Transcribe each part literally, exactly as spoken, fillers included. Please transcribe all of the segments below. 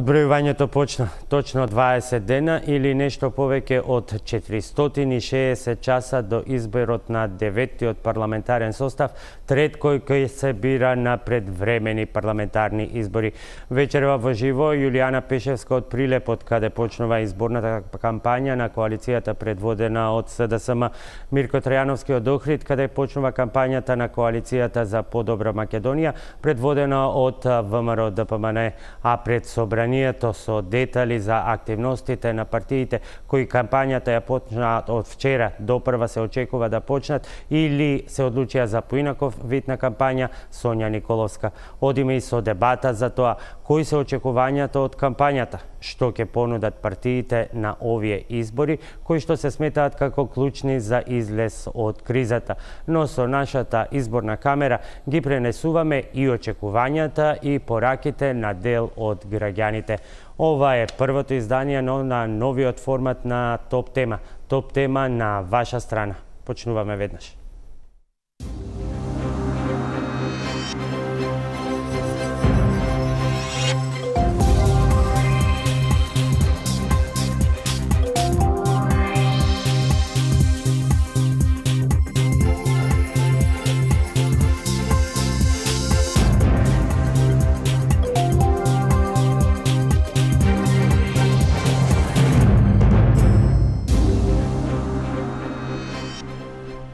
Одбројувањето почна точно дваесет дена или нешто повеќе од четиристотини и шеесет часа до изборот на деветиот парламентарен состав, трет кој кој се бира на предвремени парламентарни избори. Вечерва во живо Јулијана Пешевска од Прилеп, од каде почнува изборната кампања на коалицијата предводена од СДСМ, Мирко Трајановски од Охрид, каде почнува кампањата на коалицијата за подобра Македонија, предводена од ВМРО ДПМН, а пред собранието со детали за активностите на партиите кои кампањата ја почнаа од вчера до прва се очекува да почнат или се одлучија за поинаков вид на кампања, Сонја Николовска. Одиме и со дебата за тоа кои се очекувањата од кампањата, што ќе понудат партиите на овие избори, кои што се сметаат како клучни за излез од кризата. Но со нашата изборна камера ги пренесуваме и очекувањата и пораките на дел од граѓаните. Ова е првото издание на новиот формат на Топ тема. Топ тема на ваша страна. Почнуваме веднаш.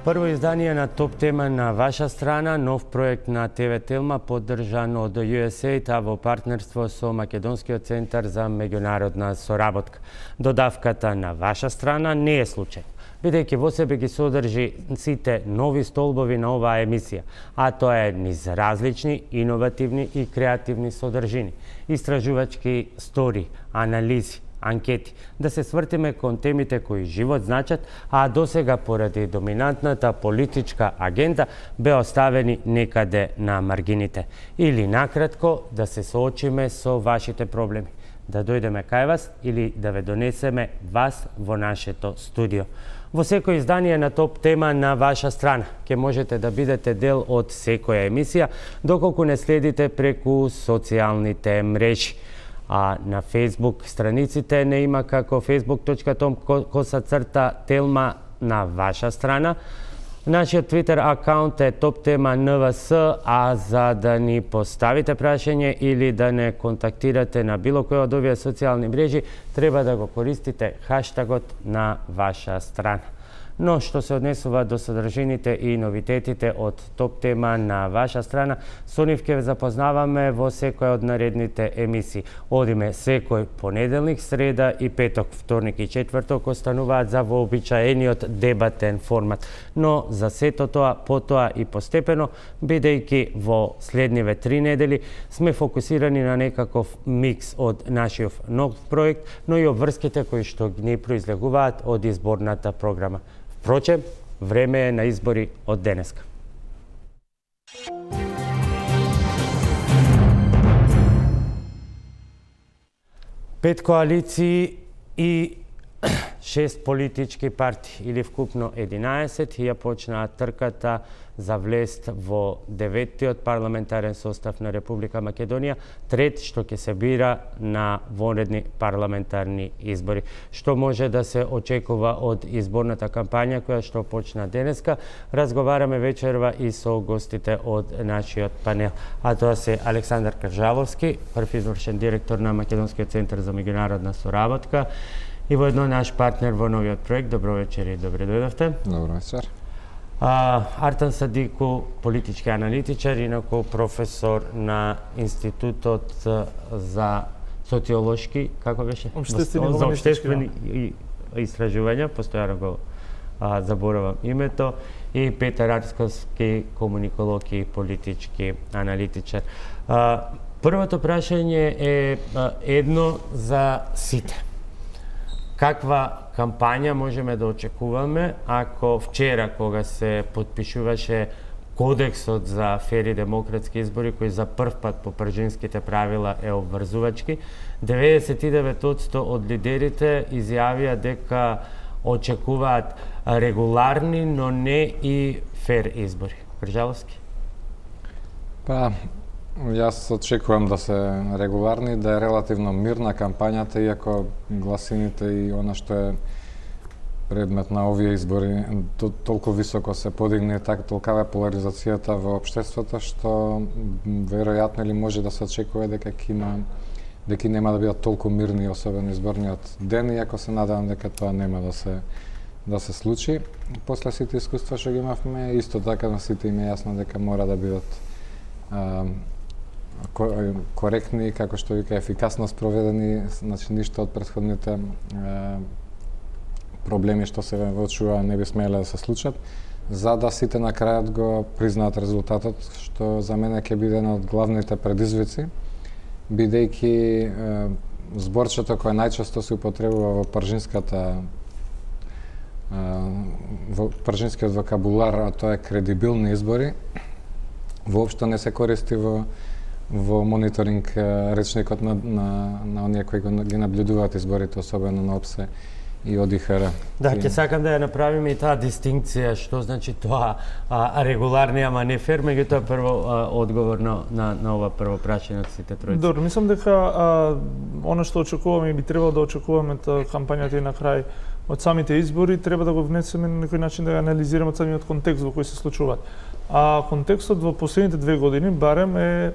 Прво издание на Топ тема на ваша страна, нов проект на ТВ Телма, поддржан од Ю Ес Ей Д, а во партнерство со Македонскиот центар за меѓународна соработка. Додавката на ваша страна не е случај, бидејќи во себе ги содржи сите нови столбови на оваа емисија, а тоа е низ различни, иновативни и креативни содржини, истражувачки стори, анализи, анкети, да се свртиме кон темите кои живот значат, а досега поради доминантната политичка агенда бе оставени некаде на маргините. Или накратко да се соочиме со вашите проблеми, да дојдеме кај вас или да ве донесеме вас во нашето студио. Во секој издание на Топ тема на ваша страна ќе можете да бидете дел од секоја емисија, доколку не следите преку социјалните мрежи. А на Facebook страниците не има како facebook точка com коса црта телма на ваша страна. Нашиот Twitter акаунт е Топ тема Н В С, а за да ни поставите прашање или да не контактирате на било која од овие социјални мрежи, треба да го користите хаштагот на ваша страна. Но што се однесува до содржините и новитетите од Топ тема на ваша страна, со нив ќе ве запознаваме во секоја од наредните емисии. Одиме секој понеделник, среда и петок, вторник и четврток остануваат за вообичаениот дебатен формат. Но за сето тоа, потоа и постепено, бидејќи во следниве три недели сме фокусирани на некаков микс од нашиот нов проект, но и обврските кои што ни произлегуваат од изборната програма. Впрочем, време е на избори од денеска. Пет коалиции и шест политички партии, или вкупно единаесет, ја почнаа трката за влест во деветиот парламентарен состав на Република Македонија, трет што ќе се бира на вонредни парламентарни избори. Што може да се очекува од изборната кампања која што почна денеска, разговараме вечерва и со гостите од нашиот панел. А тоа се Александар Кржаловски, прв извршен директор на Македонскиот центар за меѓународна соработка, и воедно наш партнер во новиот проект. Добро вечер и добре дојдовте. Добро вечер. А, Артан Садику, политички аналитичар, инаку професор на Институтот за социолошки, како беше? Обштествени за обштествени истражувања, постојано го а, заборавам името, и Петар Арцковски, комуниколог и политички аналитичар. А, првото прашање е а, едно за сите. Каква кампања можеме да очекуваме ако вчера, кога се подпишуваше Кодексот за фери демократски избори, кој за прв пат по пржинските правила е обврзувачки, деветдесет и девет одсто од лидерите изјавија дека очекуваат регуларни, но не и фер избори. Кржаловски? Па, Јас очекувам да се регуларни, да е релативно мирна кампањата, иако гласините и она што е предмет на овие избори толку високо се подигне, така толкава поларизацијата во општеството, што веројатно или може да се очекува дека ќе има дека нема да бидат толку мирни, особено изборниот ден, иако се надевам дека тоа нема да се да се случи. После сите искуства што ги имавме, исто така на сите им е јасно дека мора да бидат а, коректни, како што вика, ефикасно спроведени, значи ништо од претходните а, проблеми што се воочува не би смеле да се случат, за да сите на крајот го признаат резултатот, што за мене ќе биде една од главните предизвици, бидејќи зборчето кое најчесто се употребува во пржинската во пржинскиот вокабулар, а тоа е кредибилни избори, воопшто не се користи во во мониторинг речникот на на на оние кои ги наблюдуваат изборите, особено на ОПСЕ и ОДИХР. Да, ќе сакам да ја направиме и таа дистинкција, што значи тоа а, регуларни, ама не фер, меѓутоа прво а, одговор на, на, на ова прво прашање од сите тројци. Добро, мислам дека а, она што очекуваме и би требало да очекуваме та кампањата и на крај од самите избори, треба да го внесеме на некој начин да ја анализираме од самиот контекст во кој се случуваат. А контекстот во последните две години барем е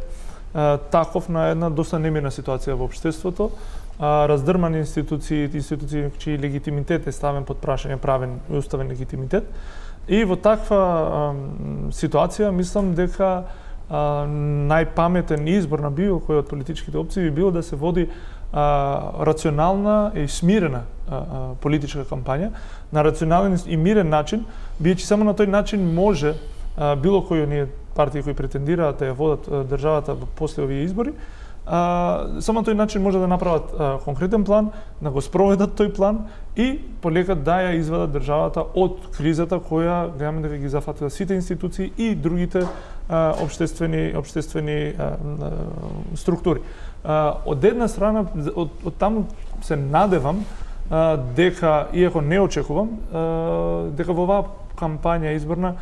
а, таков на една доста немирна ситуација во општеството, а, раздрмани институции, институции чиј легитимитет е ставен под прашање, правен и уставен легитимитет. И во таква а, ситуација мислам дека а, најпаметен избор на било кој од политичките опции би било да се води а, рационална и смирена а, а, политичка кампања на рационален и мирен начин, бидејќи само на тој начин може а, било кој оние партии кои претендираат да ја водат а, државата после овие избори, а, само на тој начин може да направат а, конкретен план, да го спроведат тој план и полека да ја извадат државата од кризата која гледаме дека ги зафатила сите институции и другите а, обштествени обштествени а, а, структури. А, од една страна, од, од таму се надевам а, дека, иако не очекувам, а, дека во оваа кампања изборна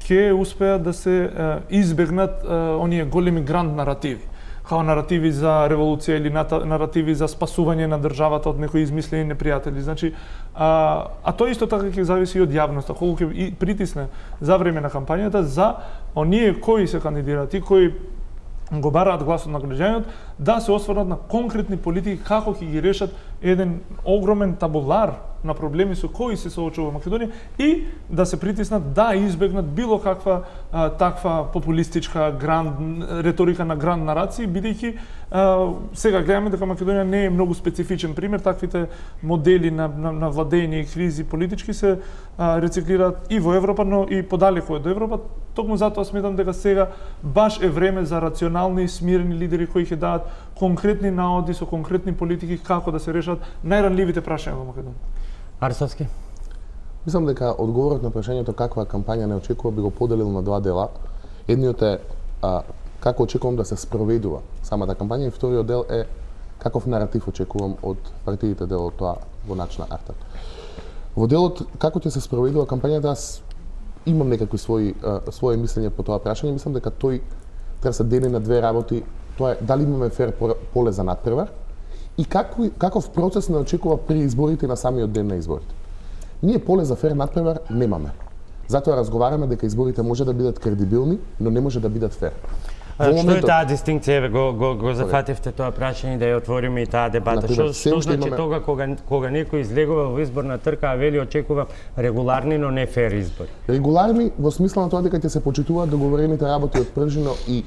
ќе успеат да се а, избегнат а, оние големи гранд наративи, као наративи за револуција или наративи за спасување на државата од некои измислени непријатели. Значи, а, а тоа исто така ќе зависи и од јавноста, колку ќе притисне за време на кампањата за оние кои се кандидираат и кои го бараат гласот на граѓаните, да се осврнат на конкретни политики како ќе ги решат еден огромен табулар на проблеми со кои се соочува Македонија и да се притиснат да избегнат било каква а, таква популистичка гранд реторика на гранд нарации, бидејќи сега гледаме дека Македонија не е многу специфичен пример, таквите модели на, на, на владење и кризи политички се а, рециклираат и во Европа, но и подалеку од Европа. Токму затоа сметам дека сега баш е време за рационални и смирени лидери кои ќе дадат конкретни наоди со конкретни политики како да се решат најранливите прашања во Македонија. Арсовски? Мислам дека одговорот на прашањето каква кампања не очекува би го поделил на два дела. Едниот е а, како очекувам да се спроведува самата кампања и вториот дел е каков наратив очекувам од партиите дел од тоа во начина артат. Во делот како ќе се спроведува кампањата, аз имам некакви своји а, своје мислење по тоа прашање. Мислам дека тој треба да се дели на две работи. Тоа е дали имаме фер поле за надпревар и каков, каков процес не очекува при изборите на самиот ден на изборите. Ние поле за фер надпревар немаме. Затоа разговараме дека изборите може да бидат кредибилни, но не може да бидат фер. А, што моментот... е таа дистинкција? Еве го го, го зафативте тоа прашање да ја отвориме и таа дебата. Што што значи имаме... тога кога кога некој излегува во изборна трка, а вели очекува регуларни, но не фер избори? Регуларни во смисла на тоа дека ќе се почитуваат договорените работи од пржино и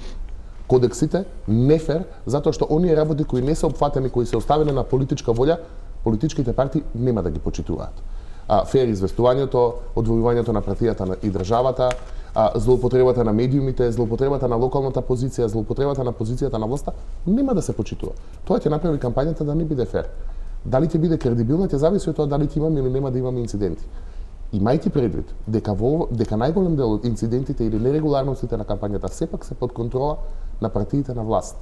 кодексите, не фер, затоа што оние работи кои не се опфатени, кои се оставени на политичка волја, политичките партии нема да ги почитуваат. А, фер известувањето, одвојувањето на партијата и државата, а, злоупотребата на медиумите, злоупотребата на локалната позиција, злоупотребата на позицијата на власта, нема да се почитува. Тоа ќе направи кампањата да не биде фер. Дали ќе биде кредибилна, ќе зависи од тоа дали ќе имаме или нема да имаме инциденти. Имајќи предвид дека во дека најголем дел од инцидентите или нерегуларностите на кампањата сепак се под контрола на партиите на власт.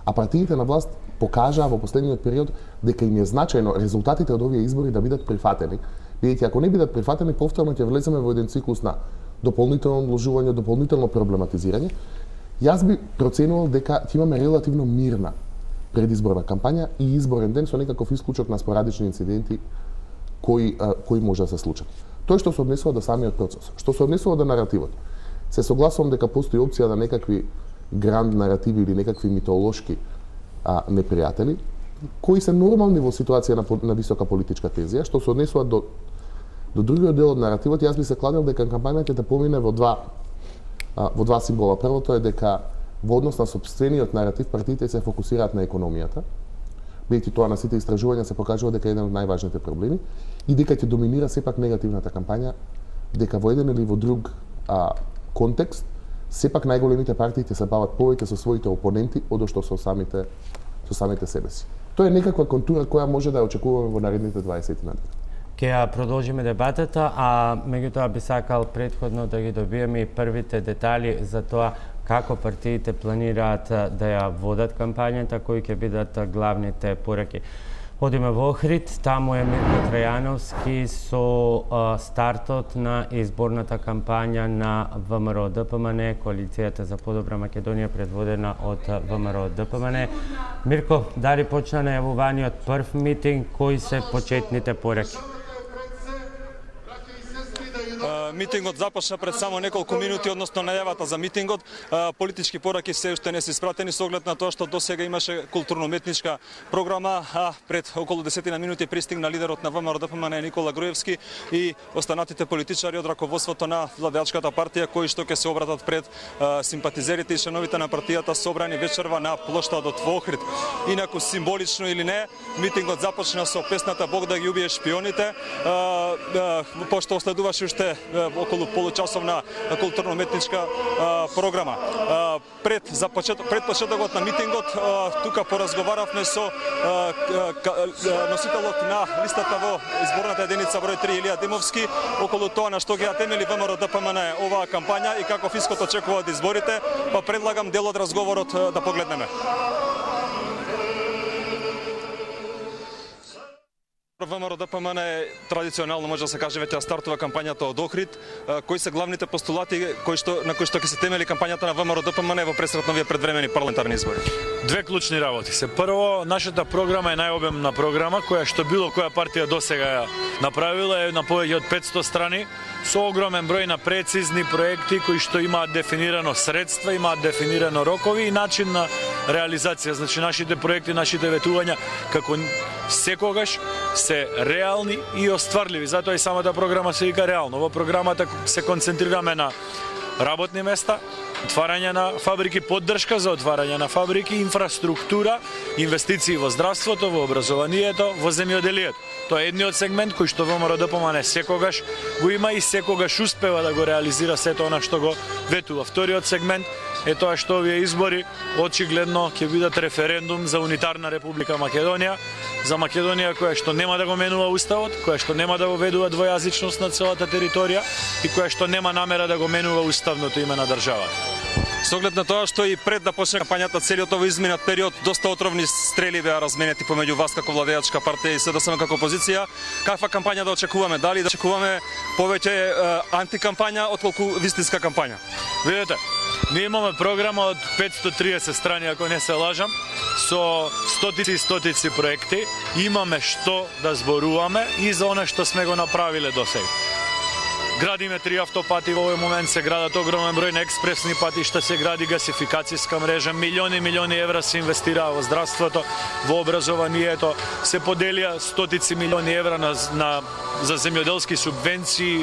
А партиите на власт покажаа во последниот период дека им е значајно резултатите од овие избори да бидат прифатени, бидејќи ако не бидат прифатени, повторно ќе влеземе во еден циклус на дополнително одложување, дополнително проблематизирање. Јас би проценувал дека ќе имаме релативно мирна предизборна кампања и изборен ден со некаков исклучок на спорадични инциденти кои а, кои може да се случат. Тоа што се однесува до самиот процес, што се однесува до наративот. Се согласувам дека постои опција на некакви гранд наративи или некакви митолошки а, непријатели, кои се нормални во ситуација на, на висока политичка тензија, што се однесува до до другиот дел од наративот. Јас би се кладел дека кампањата ќе помине во два а, во два символа. Првото е дека во однос на сопствениот наратив партиите се фокусираат на економијата, бидејќи тоа на сите истражувања се покажува дека е еден од најважните проблеми и дека ќе доминира сепак негативната кампања, дека во еден или во друг а, контекст сепак најголемите партии ќе се бават повеќе со своите опоненти одошто со самите со самите себеси. Тоа е некаква контура која може да ја очекуваме во наредните дваесет на дена. Ке ја продолжиме дебатата, а меѓутоа би сакал претходно да ги добиеме и првите детали за тоа како партиите планираат да ја водат кампањата, кои ќе бидат главните пораки. Одиме во Охрид, таму е Мирко Трајановски со а, стартот на изборната кампања на ВМРО-ДПМН, Коалицијата за подобра Македонија предводена од ВМРО-ДПМН. Мирко, дали почна најавуваниот прв митинг, кои се почетните пораки? Митингот започна пред само неколку минути, односно најавата за митингот. Политички пораки се уште не се испратени со оглед на тоа што досега имаше културно-уметничка програма, а пред околу десетина минути пристигна лидерот на ВМРО-ДПМН Никола Груевски и останатите политичари од раководството на владеачката партија кои што ќе се обратат пред симпатизерите и членовите на партијата собрани вечерва на плоштадот во Охрид. Инаку символично или не, митингот започна со песната Бог да ги убие шпионите, пошто следуваше уште околу получасовна културно-уметничка програма. Пред за почеток пред почетокот на митингот тука поразговаравме со носителот на листата во изборната единица број три Илија Димовски околу тоа на што ги темели ВМРО-ДПМН оваа кампања и каков исход очекува од изборите, па предлагам дел од разговорот да погледнеме. ВМРО-ДПМН традиционално може да се каже веќе стартува кампањата од Охрид. Кои се главните постулати кои што на кои што ќе се темели кампањата на ВМРО-ДПМН во пресретновите предвремени парламентарни избори? Две клучни работи се. Прво, нашата програма е најобемна програма која што било која партија досега ја направила, е на повеќе од петсто страни со огромен број на прецизни проекти кои што имаат дефинирано средства, имаат дефинирано рокови и начин на реализација. Значи нашите проекти, нашите ветувања како секогаш се реални и остварливи. Затоа и самата програма се вика реално. Во програмата се концентрираме на работни места, отварање на фабрики, поддршка за отварање на фабрики, инфраструктура, инвестиции во здравството, во образованието, во земјоделието. Тоа е едниот сегмент кој што ВМРО-ДПМН секогаш го има и секогаш успева да го реализира сето она што го ветува. Вториот сегмент е тоа што овие избори очигледно ќе бидат референдум за унитарна Република Македонија, за Македонија која што нема да го менува уставот, која што нема да воведува двојазичност на целата територија и која што нема намера да го менува уставното име на државата. Со оглед на тоа што и пред да почне кампањата целиот овој изминат период доста отровни стрели беа разменети помеѓу вас како владеачка партија и СДСМ како опозиција, каква кампања да очекуваме? Дали да очекуваме повеќе е, антикампања отколку вистинска кампања? Видете, ние имаме програма од петсто триесет страни, ако не се лажам, со стотици и стотици проекти. Имаме што да зборуваме и за оно што сме го направиле досега. Градиме три автопати, во овој момент се градат огромен број на експресни патишта, се гради гасификацијска мрежа, милиони милиони евра се инвестираа во здравството, во образованието, се поделија стотици милиони евра на, на, за земјоделски субвенции,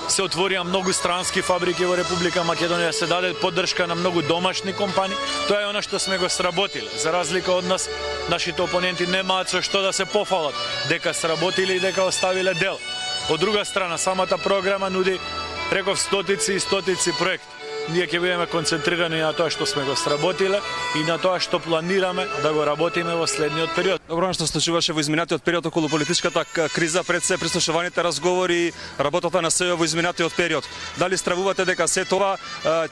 се отворија многу странски фабрики во Република Македонија, се даде поддршка на многу домашни компании. Тоа е она што сме го сработиле. За разлика од нас, нашите опоненти немаат со што да се пофалат, дека сработиле и дека оставиле дел. Од друга страна, самата програма нуди, реков, стотици и стотици проекти. Ние ќе бидеме концентрирани на тоа што сме го сработиле и на тоа што планираме да го работиме во следниот период. Добро, што случуваше во изминатиот период околу политичката криза, пред се прислушуваните разговори, работата на СЕО во изминатиот период. Дали стравувате дека се тоа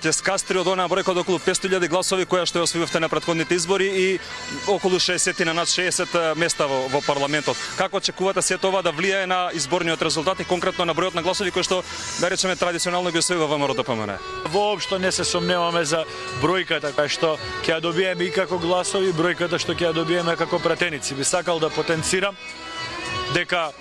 ќе скастри од онаа бројка од околу петсто илјади гласови која што ја освоивте на претходните избори и околу шеесет на над шеесет места во, во парламентот? Како очекувате се тоа да влијае на изборниот резултат и конкретно на бројот на гласови кои што, да речеме, традиционално ги освоива ВМРО-ДПМН? Воопшто уопшто не се сомневаме за бројката кај што ќе ја добиеме и како гласови, бројката што ќе ја добиеме како пратеници. Би сакал да потенцирам дека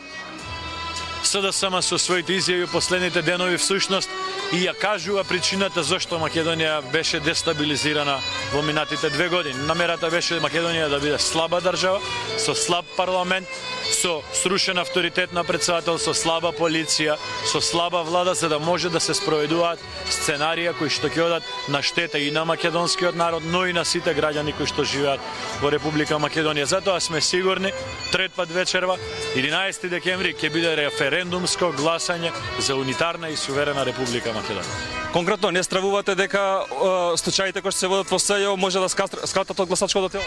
СДСМ со своите изјави последните денови всушност и ја кажува причината зашто Македонија беше дестабилизирана во минатите две години. Намерата беше Македонија да биде слаба држава, со слаб парламент, со срушен авторитет на председател, со слаба полиција, со слаба влада, за да може да се спроведуваат сценарија кои што ќе одат на штета и на македонскиот народ, но и на сите граѓани кои што живеат во Република Македонија. Затоа сме сигурни, трет пат вечерва, единаесети декември, ќе биде референдумско гласање за унитарна и суверена Република Македонија. Конкретно, не стравувате дека е, случаите кои што се водат во СЈО може да скратат од гласачкото тело?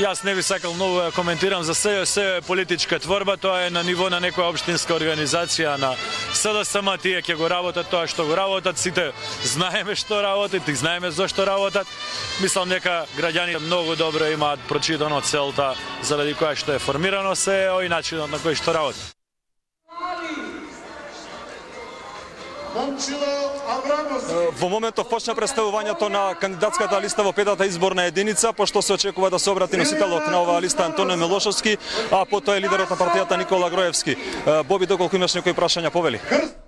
Јас не би сакал многу да коментирам за СЈО. СЈО е политичка творба, тоа е на ниво на некоја општинска организација на СДСМ, тие ќе го работат тоа што го работат, сите знаеме што работат и знаеме зошто работат. Мислам дека граѓаните многу добро имаат прочитано целта заради која што е формирано СЈО и начинот на кој што работат. Во моментов почна представувањето на кандидатската листа во петата изборна единица, пошто се очекува да се обрати носителот на оваа листа Антонио Милошовски, а потоа е лидерот на партијата Никола Гроевски. Боби, доколку имаш некои прашања, повели.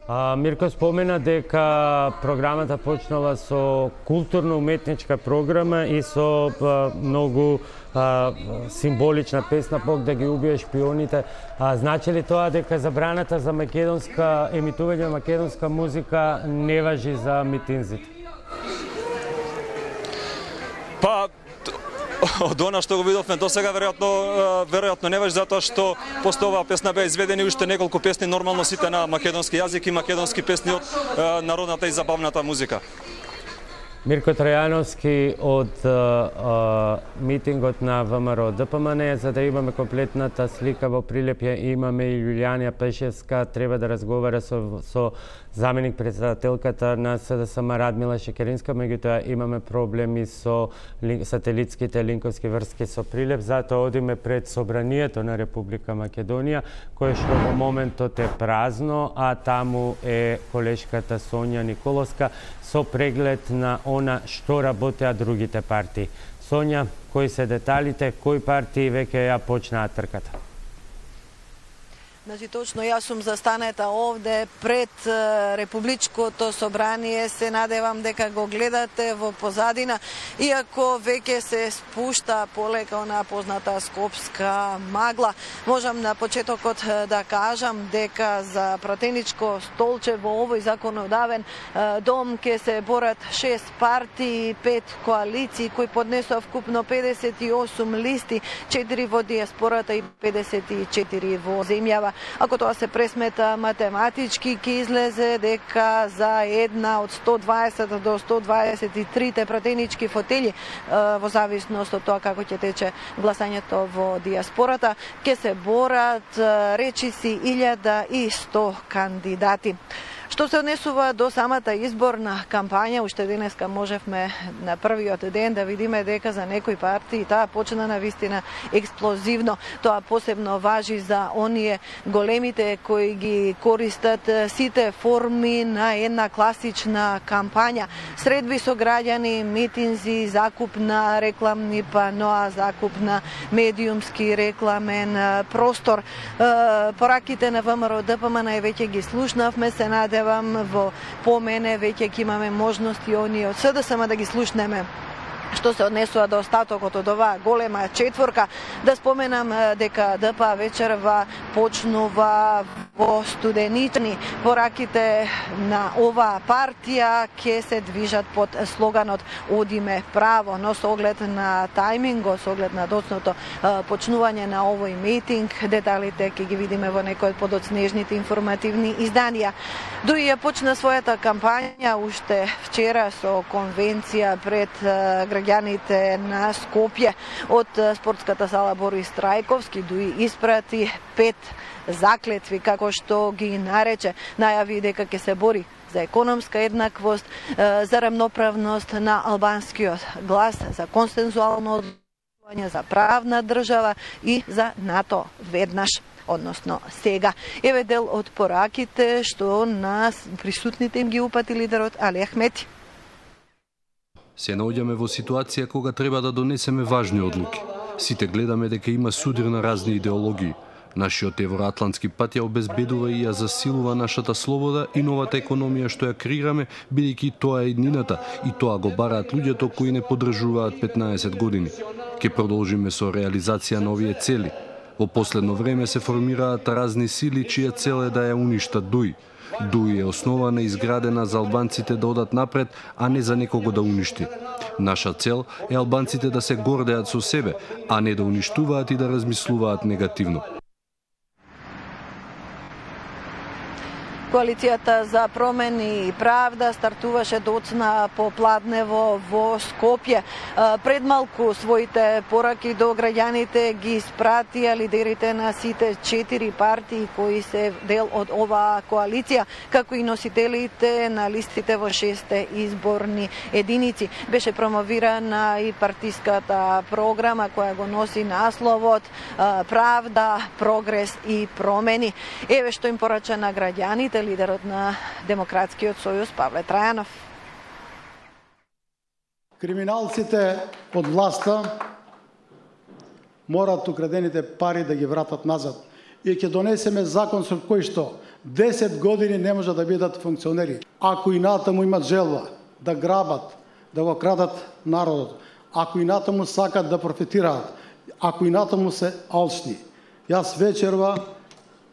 А, Мирко спомена дека програмата почнала со културно-уметничка програма и со а, многу а, символична песна "Бог да ги убие шпионите". А, значи ли тоа дека забраната за македонска емитување на македонска музика не важи за митинзите? Па од она што го видовме до сега, веројатно веројатно не важи, затоа што после оваа песна беа изведени уште неколку песни, нормално сите на македонски јазик и македонски песни од народната и забавната музика. Мирко Трајановски од а, митингот на ВМРО ДПМН, за да имаме комплетната слика во прилепје, имаме и Јулијана Пешевска, треба да разговара со, со заменик председателката на СДСМ Радмила Шекеринска, меѓутоа имаме проблеми со лин, сателитските линковски врски со прилеп, затоа одиме пред собранието на Република Македонија, кое што во моментот е празно, а таму е колешката Сонја Николовска со преглед на она што работеа другите партии. Сонја, кои се деталите, кои партии веќе ја почнаа трката? Значи, точно јас сум застанета овде пред Републичкото собрание. Се надевам дека го гледате во позадина, иако веќе се спушта полека онаа позната скопска магла. Можам на почетокот да кажам дека за пратеничко столче во овој законодавен дом ќе се борат шест партии, пет коалиции кои поднесоа вкупно педесет и осум листи, четири во диаспората и педесет и четири во земјава. Ако тоа се пресмета математички, ќе излезе дека за една од сто дваесет до сто дваесет и три пратенички фотели, во зависност од тоа како ќе тече гласањето во диаспората, ќе се борат речиси илјада и сто кандидати. Што се однесува до самата изборна кампања, уште денеска можевме на првиот ден да видиме дека за некои партии таа почна на вистина експлозивно. Тоа посебно важи за оние големите кои ги користат сите форми на една класична кампања. Средби со граѓани, митинзи, закуп на рекламни паноа, закуп на медиумски рекламен простор. Пораките на ВМРО ДПМН веќе ги слушнавме, се наде во помене веќе ќе имаме можности оние од СДСМ да ги слушнеме. Што се однесува до остатокот од оваа голема четворка, да споменам дека ДПА вечерва почнува во Студеничани. Пораките на оваа партија ќе се движат под слоганот "Одиме право", но со оглед на тајмингот, со оглед на доцното почнување на овој митинг, деталите ќе ги видиме во некои од подоцнежните информативни изданија. Дуи ја почна својата кампања уште вчера со конвенција пред граѓаните на Скопје. Од спортската сала Борис Трајковски дуи испрати пет заклетви, како што ги нарече. Најави дека ќе се бори за економска еднаквост, за рамноправност на албанскиот глас, за консензуално одlučување, за правна држава и за НАТО веднаш, односно сега. Еве дел од пораките што нас присутните им ги упати лидерот Али Ахмети. Се наоѓаме во ситуација кога треба да донесеме важни одлуки. Сите гледаме дека има судир на разни идеологии. Нашиот евроатлантски пат ја обезбедува и ја засилува нашата слобода и новата економија што ја креираме, бидејќи тоа е еднината и тоа го бараат луѓето кои не поддржуваат петнаесет години. Ке продолжиме со реализација на овие цели. Во последно време се формираат разни сили чија цел е да ја уништат ДУИ. ДУИ е основана и изградена за албанците да одат напред, а не за некого да уништи. Наша цел е албанците да се гордеат со себе, а не да уништуваат и да размислуваат негативно. Коалицијата за промени и правда стартуваше доцна попладнево во Скопје. Пред малку своите пораки до граѓаните ги испратија лидерите на сите четири партии кои се дел од оваа коалиција, како и носителите на листите во шесте изборни единици. Беше промовирана и партиската програма која го носи насловот Правда, прогрес и промени. Еве што им порача на граѓаните лидерот на Демократскиот сојуз Павле Трајанов. Криминалците од власта морат украдените пари да ги вратат назад и ќе донесеме закон со кој што десет години не може да бидат функционери. Ако и натаму имат желба да грабат, да го крадат народот, ако и натаму сакат да профитираат, ако и натаму се алчни. Јас вечерва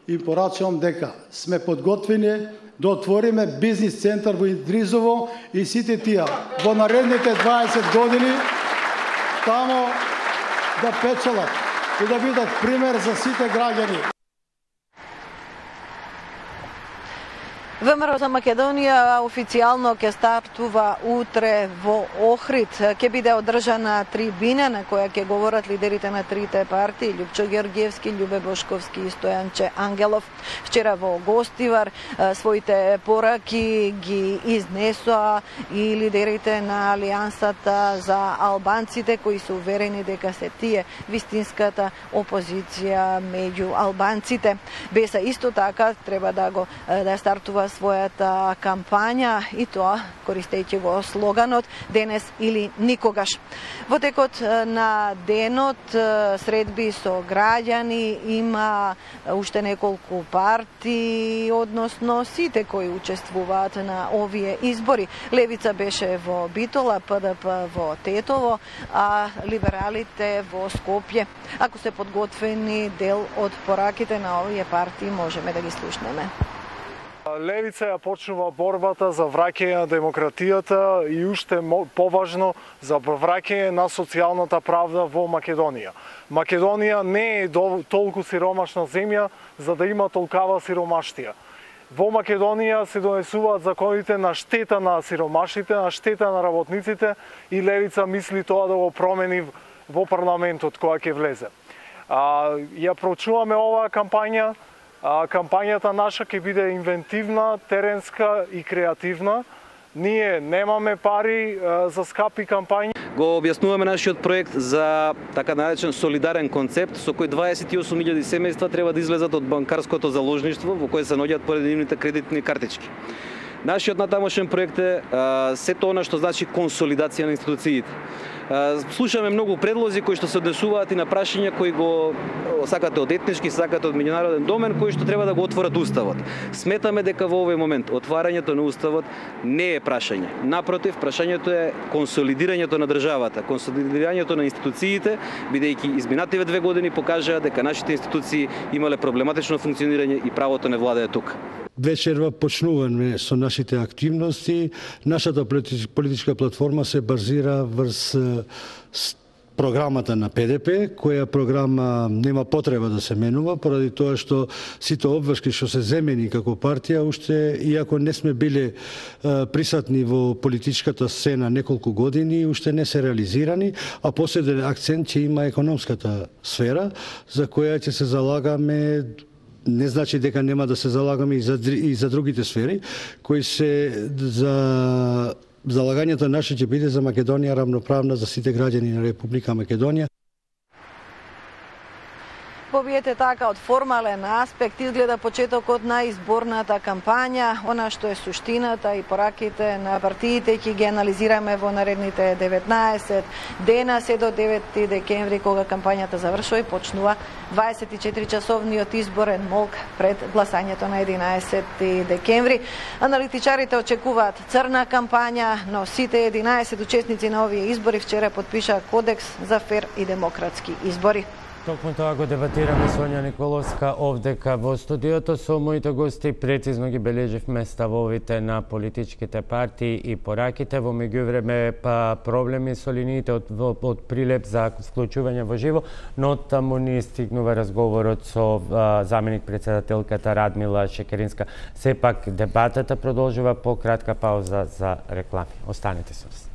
и порачувам дека сме подготвени да отвориме бизнис центар во Идризово и сите тие во наредните дваесет години тамо да печелат и да бидат пример за сите граѓани. ВМРО за Македонија официјално ќе стартува утре во Охрид. Ќе биде одржана трибина на која ќе говорат лидерите на трите партии Лјупчо Георгиевски, Љубе Бошковски и Стојанче Ангелов. Вчера во Гостивар своите пораки ги изнесоа и лидерите на Алијансата за албанците кои се уверени дека се тие вистинската опозиција меѓу албанците. Беса исто така треба да го да стартува својата кампања и тоа користејќи го слоганот денес или никогаш. Во текот на денот средби со граѓани има уште неколку партии, односно сите кои учествуваат на овие избори. Левица беше во Битола, ПДП во Тетово, а либералите во Скопје. Ако се подготвени дел од пораките на овие партии можеме да ги слушнеме. Левица ја почнува борбата за враќање на демократијата и уште поважно за враќање на социјалната правда во Македонија. Македонија не е толку сиромашна земја за да има толкава сиромаштија. Во Македонија се донесуваат законите на штета на сиромашите, на штета на работниците и Левица мисли тоа да го промени во парламентот која ќе влезе. А, ја проучуваме оваа кампања. А, кампањата наша ќе биде инвентивна, теренска и креативна. Ние немаме пари а, за скапи кампањи. Го објаснуваме нашиот проект за така наречен солидарен концепт со кој дваесет и осум илјади семејства треба да излезат од банкарското заложништво во кое се наоѓаат поединивните кредитни картички. Нашиот натамошен проект е а, сето она што значи консолидација на институциите. А, слушаме многу предлози кои што се однесуваат и на прашања кои го сакате од етнички, сакате од меѓународен домен, кои што треба да го отворат уставот. Сметаме дека во овој момент отварањето на уставот не е прашање. Напротив, прашањето е консолидирањето на државата, консолидирањето на институциите, бидејќи изминативе две години покажаа дека нашите институции имале проблематично функционирање и правото не владее тука. Вечерва почнуваме со нашите активности. Нашата политичка платформа се базира врз програмата на ПДП, која програма нема потреба да се менува, поради тоа што сите обврски што се земени како партија, уште, иако не сме биле присатни во политичката сцена неколку години, уште не се реализирани, а последен акцент ќе има економската сфера, за која ќе се залагаме. Не значи дека нема да се залагаме и за, и за другите сфери, кои се за залагањето наше ќе биде за Македонија рамноправна за сите граѓани на Република Македонија. побиете така од формален аспект изгледа почетокот на изборната кампања, она што е суштината и пораките на партиите ќе ги анализираме во наредните деветнаесет дена се до девети декември кога кампањата завршува и почнува дваесет и четири часовниот изборен молк пред гласањето на единаесети декември. Аналитичарите очекуваат црна кампања, но сите единаесет учесници на овие избори вчера подпишаа кодекс за фер и демократски избори. Токму тоа го дебатираме Сонја Николовска овдека во студиото со моите гости. Прецизно ги бележивме ставовите на политичките партии и пораките. Во меѓувреме па проблеми со линиите од, од прилеп за вклучување во живо, но таму ни стигнува разговорот со а, заменик председателката Радмила Шекеринска. Сепак дебатата продолжува по кратка пауза за реклами. Останете со нас.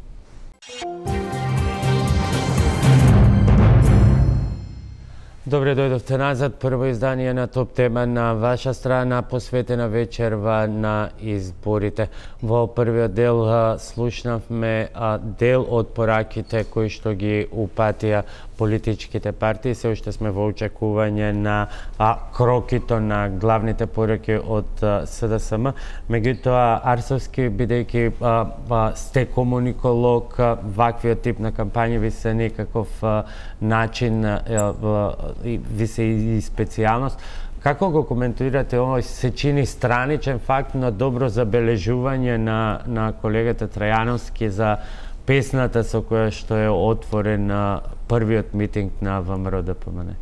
Добре дојдовте назад. Прво издание на топ тема на ваша страна, посветена вечерва на изборите. Во првиот дел а, слушнавме а, дел од пораките кои што ги упатија политичките партии. Се уште сме во очекување на а, крокито на главните пораки од а, С Д С М. Меѓутоа, Арсовски, бидејќи а, а, сте комуниколог, а, ваквиот тип на кампањи ви се некаков а, начин а, а, ви се и специјалност. Како го коментирате овој се чини страничен факт, но добро забележување на, на колегата Трајановски за песната со која што е отворен на првиот митинг на В М Р Д П М Н?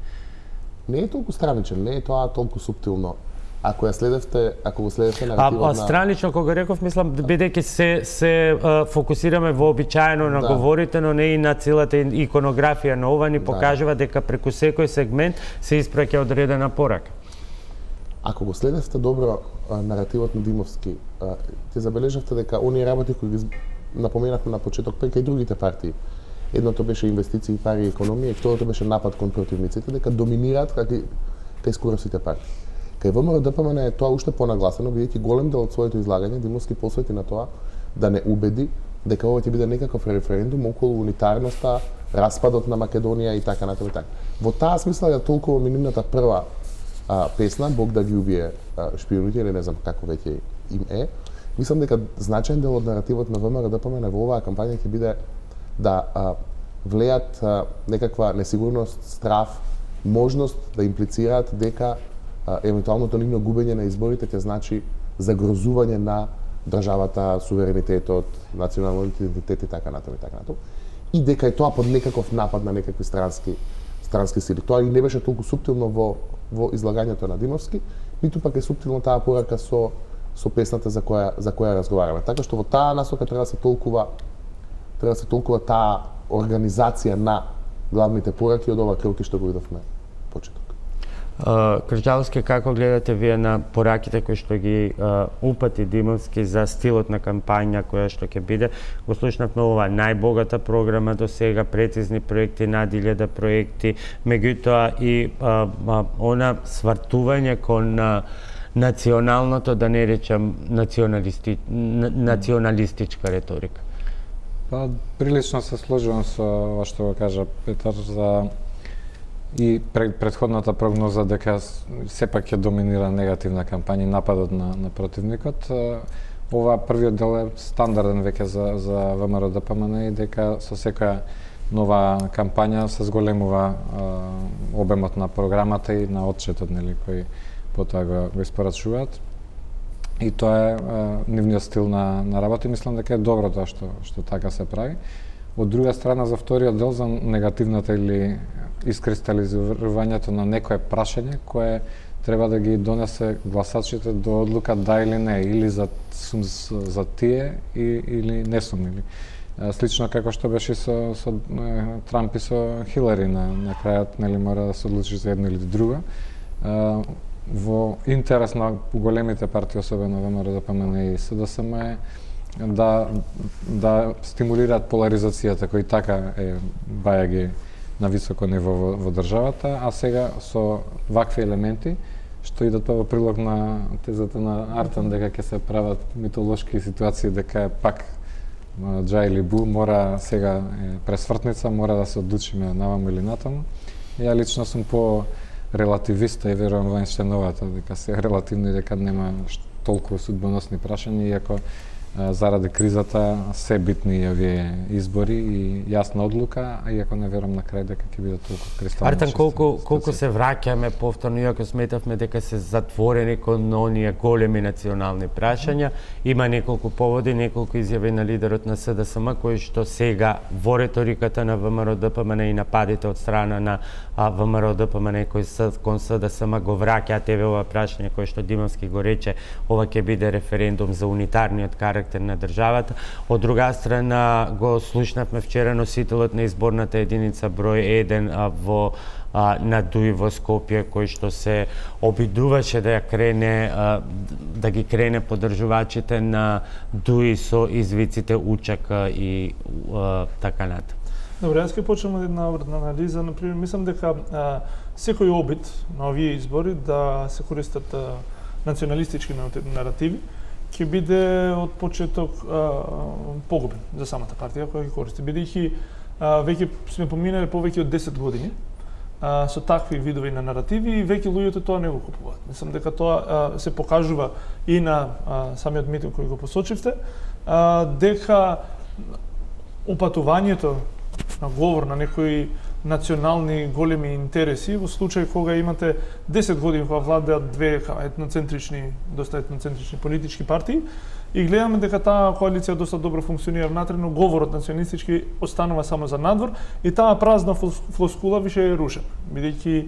Не е толку страничен, не е тоа толку суптилно. Ако ја следевте, ако го следевте наративот а, а на... странично, кога реков, мислам, бидејќи се, се а, фокусираме вообичаено на да. говорите, но не и на целата иконографија на ова, ни покажува дека преку секој сегмент се испраќа одредена порака. Ако го следевте добро а, наративот на Димовски, а, те забележавте дека оние работи кои ги напоменавме на почеток, па и кај другите партии. Едното беше инвестиции, пари и економија, и второто беше напад кон противниците, дека доминираат кај, кај скоро сите партии. Кај В М Р Д П М Н е тоа уште понагласено, бидејќи голем дел од своето излагање Димовски посвети на тоа да не убеди дека ова ќе биде некаков референдум околу унитарноста, распадот на Македонија и така натаму така. Во таа смисла ја толкова минимната прва а, песна Бог да ги убие а, шпионите, или не знам како веќе им е. Мислам дека значаен дел од наративот на В М Р Д П М Н во оваа кампања ќе биде да а, влеат а, некаква несигурност, страф, можност да имплицираат дека а, евентуалното нивно губење на изборите ќе значи загрозување на државата, суверенитетот, националниот идентитет и така натаму и така натаму. И дека е тоа под некаков напад на некакви странски странски сили. Тоа и не беше толку суптилно во во излагањето на Димовски, ниту пак е суптилно таа порака со со песната за која за која разговараме. Така што во таа насока треба да се толкува треба да се толкува таа организација на главните пораки од ова крилки што го видовме почеток. Uh, Крџаловски, како гледате вие на пораките кои што ги uh, упати Димовски за стилот на кампања која што ќе биде? Го слушнавме ова најбогата програма до сега, прецизни проекти, над илјада проекти, меѓутоа и uh, uh, она свартување кон uh, националното, да не речам националисти, националистичка реторика. Па, прилично се сложувам со ова што го кажа Петар за и предходната прогноза дека сепак ќе доминира негативна кампања и нападот на, на противникот. Ова првиот дел е стандарден веќе за, за В М Р Д П М Н и дека со секоја нова кампања се зголемува а, обемот на програмата и на отчетот, нели, кој потоа го, го испорачуваат. И тоа е а, нивниот стил на, на работа и мислам дека е добро тоа што, што така се прави. Од друга страна, за вториот дел, за негативната или искристализувањето на некое прашање кое треба да ги донесе гласачите до одлука да или не, или за сум за тие и, или не сум, или слично како што беше со, со Трамп и со Хилари на, на крајот, нели, мора да се одлучи за едно или друго. Во интерес на големите партии, особено В М Р Д П М Н и С Д С М е да да стимулираат поларизацијата кој така е бајаги на високо ниво во, во државата, а сега со вакви елементи што идат во прилог на тезата на Артан дека ќе се прават митолошки ситуации, дека е пак Джа или Бу, мора сега е пресвртница, мора да се одлучиме наваму или натаму. Ја лично сум по релативиста и верувам во Еинштейновата, дека се релативно и дека нема толку судбоносни прашања, иако заради кризата се битни и овие избори и јасна одлука, а иако не верувам на крај дека ќе биде толку кристално. Артан, колку колку се враќаме повторно, иако сметавме дека се затворени кон оние големи национални прашања, има неколку поводи, неколку изјави на лидерот на СДСМ кои што сега во реториката на ВМРО-ДПМН и нападите од страна на ВМРО-ДПМН кои се кон СДСМ го враќаат еве ова прашање кој што Димовски го рече, ова ќе биде референдум за унитарниот карактер на државата. Од друга страна го слушнавме вчера носителот на изборната единица број еден во а, на Дуи во Скопје, кој што се обидуваше да ја крене а, да ги крене поддржувачите на Дуи со извиците Учака и а, така натаму. Добре, јас ќе почнем од една обратна анализа. Например, мислам дека а, секој обид на овие избори да се користат а, националистички наративи ќе биде од почеток а, погубен за самата партија која ги користи. Бидејќи веќе сме поминале повеќе од десет години а, со такви видови на наративи и веќе луѓето тоа не го купуваат. Мислам дека тоа а, се покажува и на а, самиот митинг кој го посочивте, а, дека упатувањето на говор на некои национални големи интереси во случај кога имате десет години кога владеат две етноцентрични, доста етноцентрични политички партии и гледаме дека таа коалиција доста добро функционира внатре, но говорот националистички останува само за надвор и таа празна флоскула више е рушена, бидејќи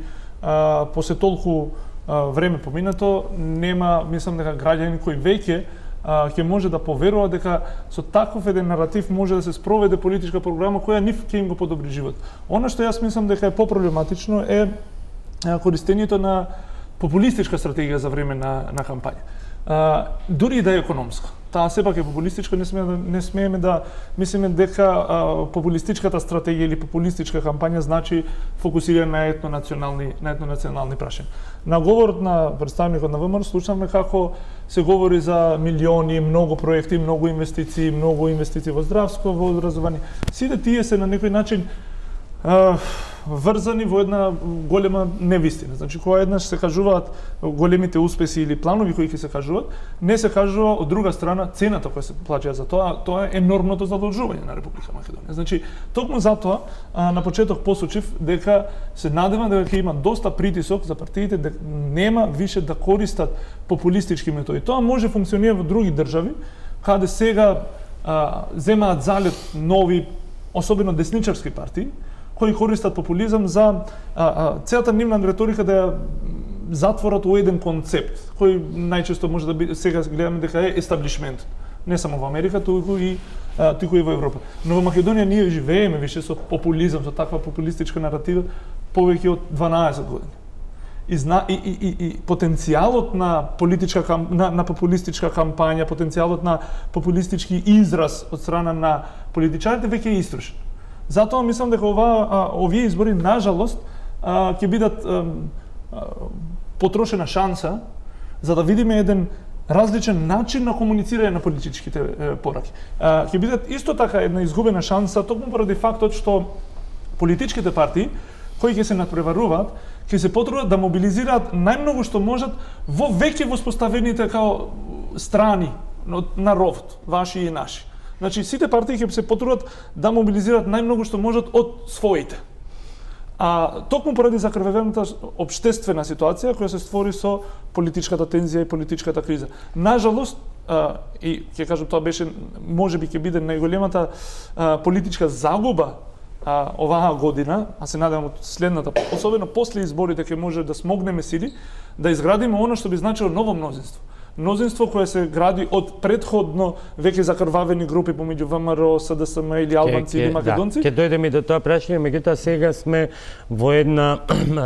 после толку а, време поминато нема, мислам дека граѓани кои веќе ќе може да поверува дека со таков еден наратив може да се спроведе политичка програма која нив ќе им го подобри живот. Она што јас мислам дека е попроблематично е користењето на популистичка стратегија за време на, на кампања. А, дури и да е економска. Таа сепак е популистичка, не смееме да, не смееме да мислиме дека а, популистичката стратегија или популистичка кампања значи фокусирање на етнонационални на етнонационални прашања. На говорот на представникот на ВМРО слушнавме како се говори за милиони, многу проекти, многу инвестиции, многу инвестиции во здравство, во образование. Сите тие се на некој начин а, врзани во една голема невистина. Значи, кога еднаш се кажуваат големите успеси или планови кои ќе се кажуваат, не се кажува од друга страна цената која се плаќа за тоа, тоа е енормното задолжување на Република Македонија. Значи, токму затоа а, на почеток посочив дека се надевам дека ќе има доста притисок за партиите дека нема више да користат популистички методи. Тоа може функционира во други држави, каде сега а, земаат залет нови, особено десничарски партии, кои користат популизам за а, а, целата нивна риторика да ја затворат у еден концепт, кој најчесто може да биде, сега гледаме дека е естаблишмент, не само во Америка, туку и а, туку и во Европа. Но во Македонија ние живееме више со популизам, со таква популистичка наратива повеќе од дванаесет години. И, зна, и, и, и, и потенцијалот на политичка на, на популистичка кампања, потенцијалот на популистички израз од страна на политичарите веќе е истрошен. Затоа мислам дека ова а, овие избори нажалост а, ќе бидат а, а, потрошена шанса за да видиме еден различен начин на комуницирање на политичките е, пораки. А, ќе бидат исто така една изгубена шанса токму поради фактот што политичките партии кои ќе се надпреваруваат, ќе се потрудат да мобилизираат најмногу што можат во веќе воспоставените као страни на ровот, ваши и наши. Значи, сите партии ќе се потрудат да мобилизираат најмногу што можат од своите. А токму поради закрвевената општествена ситуација која се створи со политичката тензија и политичката криза. Нажалост, а, и ќе кажам тоа беше, можеби ќе биде најголемата а, политичка загуба а, оваа година, а се надевам од следната, особено после изборите ќе може да смогнеме сили да изградиме она што би значило ново мнозинство. Мнозинство кое се гради од претходно веќе закрвавени групи помеѓу ВМРО, СДСМ или албанци или македонци. Да, ќе дојдеме до тоа прашање, меѓутоа сега сме во една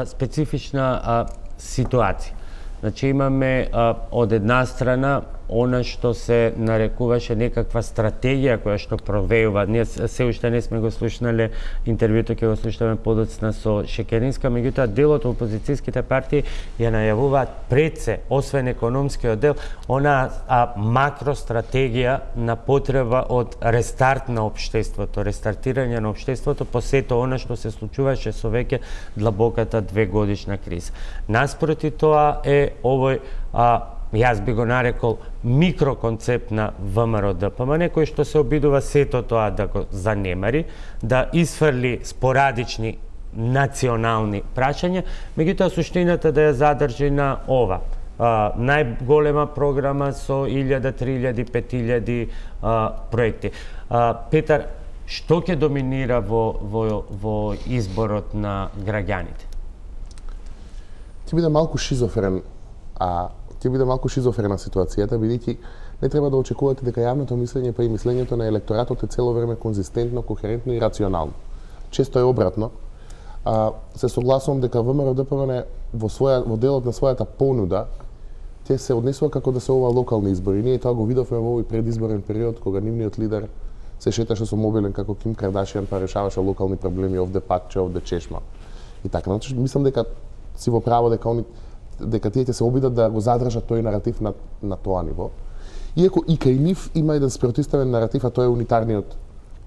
специфична а, ситуација. Значи имаме а, од една страна она што се нарекуваше некаква стратегија која што провеува. Ние се уште не сме го слушнале интервјуто, ќе го слушаме подоцна со Шекеринска, меѓутоа дел од опозицијските партии ја најавуваат пред се, освен економскиот дел, она а, макростратегија на потреба од рестарт на општеството, рестартирање на општеството по сето она што се случуваше со веќе длабоката двегодишна криза. Наспроти тоа е овој а, јас би го нарекол микроконцепт на ВМРО-ДПМН, кој што се обидува сето тоа да го занемари, да изфрли спорадични национални прашања, меѓутоа суштината да ја задржи на ова. А, најголема програма со илјада, три илјади, пет илјади а, проекти. А, Петар, што ќе доминира во, во, во изборот на граѓаните? Ќе биде малку шизофрен, а ќе биде малку шизофрена ситуацијата, бидејќи не треба да очекувате дека јавното мислење па и мислењето на електоратот е цело време конзистентно, кохерентно и рационално. Често е обратно. А, се согласувам дека ВМРО-ДПМН во своја во делот на својата понуда ќе се однесува како да се ова локални избори. Ние тоа го видовме во овој предизборен период кога нивниот лидер се шеташе со мобилен како Ким Кардашијан па решаваше локални проблеми овде пакче, овде чешма. И така, значи мислам дека си во право дека они дека тие ќе се обидат да го задржат тој наратив на, на тоа ниво. Иако и кај нив има еден спротивставен наратив, а тоа е унитарниот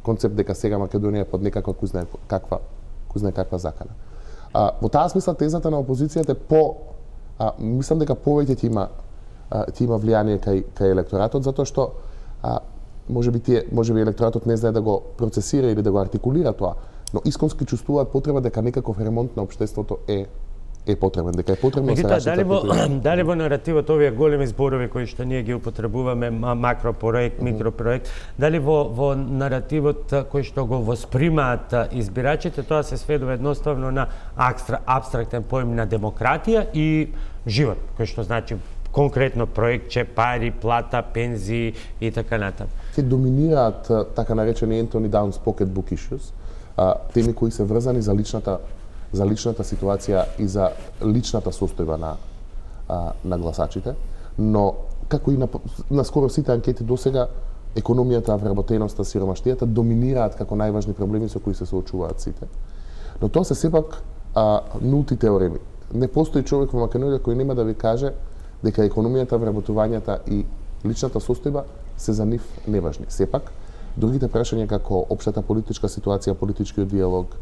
концепт дека сега Македонија е под некаква кој знае каква, кој знае каква закана. А, во таа смисла тезата на опозицијата е по а, мислам дека повеќе ќе има а, ќе има влијание кај кај електоратот, затоа што а, можеби тие можеби електоратот не знае да го процесира или да го артикулира тоа, но исконски чувствуваат потреба дека некаков ремонт на општеството е е потребен, дека е потребно да се раши. Дали во дали во наративот овие големи зборови кои што ние ги употребуваме, макропроект, mm -hmm. микропроект, дали во во наративот кој што го воспримаат избирачите, тоа се сведува едноставно на апстрактен поим на демократија и живот, кој што значи конкретно проектче, пари, плата, пензии и така натаму. Ќе доминираат така наречени Anthony Downs pocketbook issues, теми кои се врзани за личната за личната ситуација и за личната состојба на а, на гласачите, но како и на, на скоро сите анкети досега, економијата, вработеноста, сиромаштијата доминираат како најважни проблеми со кои се соочуваат сите. Но тоа се сепак а, нулти теореми. Не постои човек во Македонија кој нема да ви каже дека економијата, вработувањата и личната состојба се за нив неважни. Сепак, другите прашања како општата политичка ситуација, политичкиот диалог,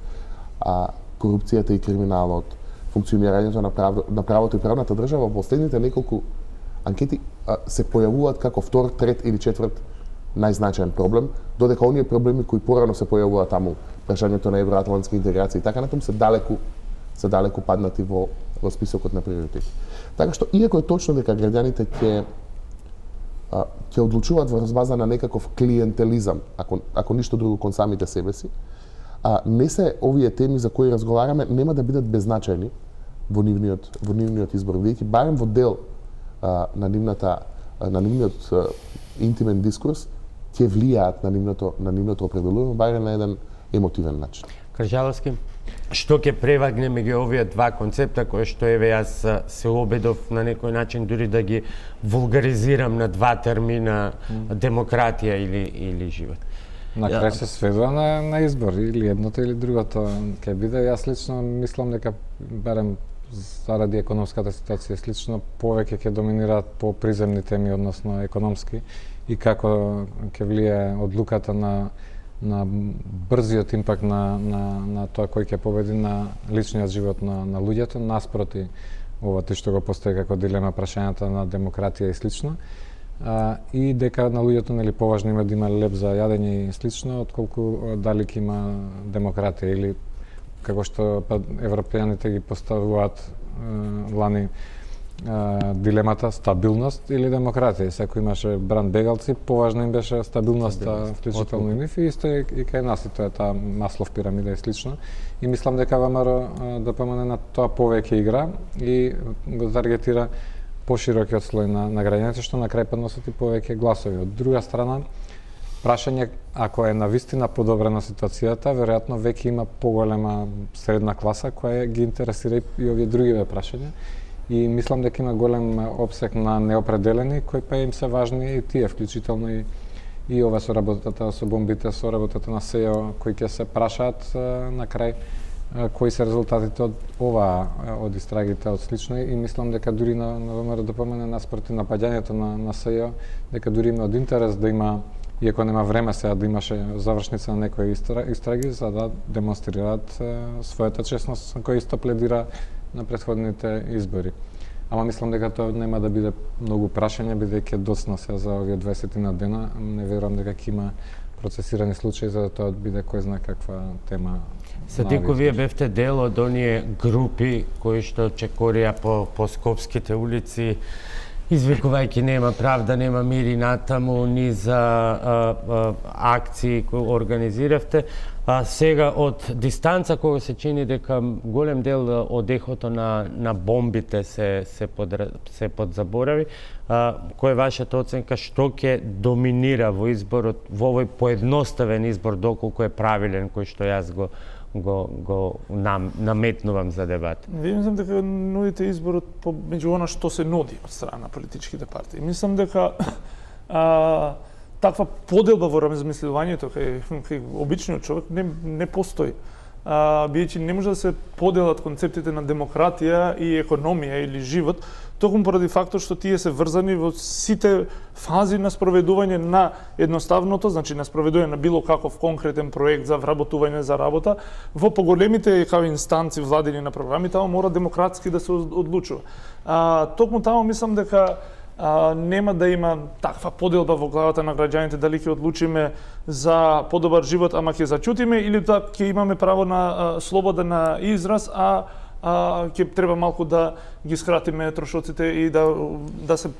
а, корупцијата и криминалот, функционирањето на, прав... на правото и правната држава во последните неколку анкети а, се појавуваат како втор, трет или четврт најзначаен проблем, додека оние проблеми кои порано се појавуваат таму, прашањето на евроатлантски интеграција и така натаму се далеку се далеку паднати во, во списокот на приоритети. Така што иако е точно дека граѓаните ќе а, ќе одлучуваат во база на некаков клиентелизам, ако ако ништо друго кон самите себе си, а не се овие теми за кои разговараме нема да бидат беззначајни во нивниот во нивниот избор, бидејќи барем во дел а, на нивната на нивниот а, интимен дискурс ќе влијаат на нивното на нивното определување барем на еден емотивен начин. Кржаловски, што ќе превагне меѓу овие два концепта кои што еве јас се обидов на некој начин дури да ги вулгаризирам на два термина демократија или или живот? На крај се сведува на, на избор, или едното или другото ќе биде. Јас лично мислам дека барем заради економската ситуација слично повеќе ќе доминираат по приземни теми, односно економски, и како ќе влие одлуката на на брзиот импакт на на на тоа кој ќе победи на личниот живот на на луѓето наспроти ова тоа што го постави како дилема прашањата на демократија и слично. А, и дека на луѓето нели поважно има да има леп за јадење и слично, отколку дали ќе има демократија или како што па, европејаните ги поставуваат е, лани е, дилемата стабилност или демократија. И секој имаше бранд бегалци, поважно им беше стабилноста, вклучително и нив, и исто и, и кај нас и тоа е таа Маслов пирамида и слично. И мислам дека ВМРО-ДПМН на тоа повеќе игра и го таргетира поширокиот слој на, на граѓаните, што на крај подносат и повеќе гласови. Од друга страна, прашање, ако е навистина подобрена ситуацијата, веројатно веќе има поголема средна класа која ги интересира и овие другиве прашања. И мислам дека има голем опсег на неопределени кои па им се важни и тие, вклучително и и ова со работата со бомбите, со работата на СЕО, кои ќе се прашаат на крај кои се резултатите од ова, од истрагите, од слично, и мислам дека дури на, на ВМРО да помене наспроти напаѓањето на, на СЕО, дека дури има од интерес да има, иако нема време сега да имаше завршница на некои истраги, за да демонстрираат својата честност, која исто пледира на претходните избори. Ама мислам дека тоа нема да биде многу прашање, бидејќи доцна се за овие дваесет на дена. Не верувам дека ќе има процесирани случаи за да тоа биде кој знае каква тема. Садико, вие бевте дел од оние групи кои што чекорија по, по скопските улици, извикувајќи нема правда, нема мир и натаму, ни за а, а, акции кои организиравте. А сега од дистанца кога се чини дека голем дел од ехото на, на бомбите се, се, под, се подзаборави, а, која е вашата оценка, што ќе доминира во изборот, во овој поедноставен избор, доколку е правилен, кој што јас го го го нам, наметнувам за дебат? Ви мислам дека нудите изборот по меѓу она што се нуди од страна на политичките партии. Мислам дека а, таква поделба во размислувањето кај, кај обичниот човек не, не постои. А, биејќи не може да се поделат концептите на демократија и економија или живот, токму поради фактот што тие се врзани во сите фази на спроведување на едноставното, значи на спроведување на било каков конкретен проект за вработување за работа, во поголемите како инстанци владени на програми, таму мора демократски да се одлучува. А, токму таму мислам дека а, нема да има таква поделба во главата на граѓаните дали ќе одлучиме за подобар живот, ама ќе зачутиме, или да ќе имаме право на а, слобода на израз, а а ќе треба малку да ги скратиме трошоците и да да се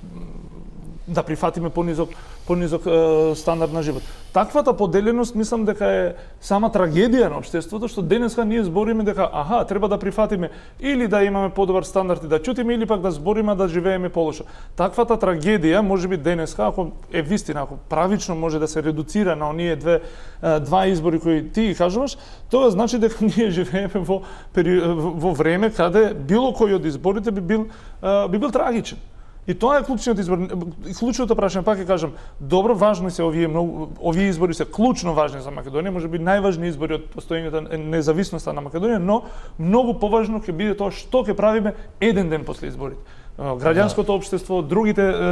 да прифатиме понизок понизок е, стандард на живот. Таквата поделеност мислам дека е сама трагедија на општеството, што денеска ние збориме дека аха, треба да прифатиме или да имаме подобар стандард и да чутиме, или пак да збориме да живееме полошо. Таквата трагедија можеби денеска, ако е вистина, ако правично може да се редуцира на оние две два избори кои ти ги кажуваш, тоа значи дека ние живееме во во време каде било кој од изборите би бил би бил трагичен. И тоа е клучниот избор. Клучното прашање, пак ќе кажам, добро, важни се овие многу, овие избори се клучно важни за Македонија, можеби најважни избори од постоењето независноста на Македонија, но многу поважно ќе биде тоа што ќе правиме еден ден после изборите. Граѓанското општество, другите е,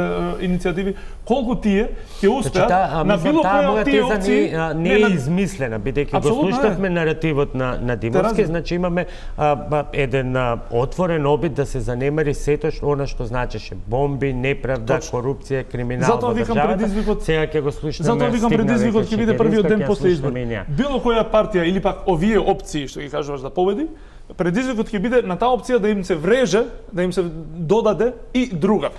иницијативи, колку тие ќе успеат значи, на било која од тие опции не, не е измислена, бидејќи го слушнавме наративот на на Димовски, значи имаме а, еден а, отворен обид да се занемари сето што она што значеше бомби, неправда, Точно. корупција, криминал во државата. Сега ќе го слушнеме. Затоа викам предизвикот ќе биде првиот ден после избори. Било која партија или пак овие опции што ги кажуваш да победи, предизвикот ќе биде на таа опција да им се вреже, да им се додаде и друга.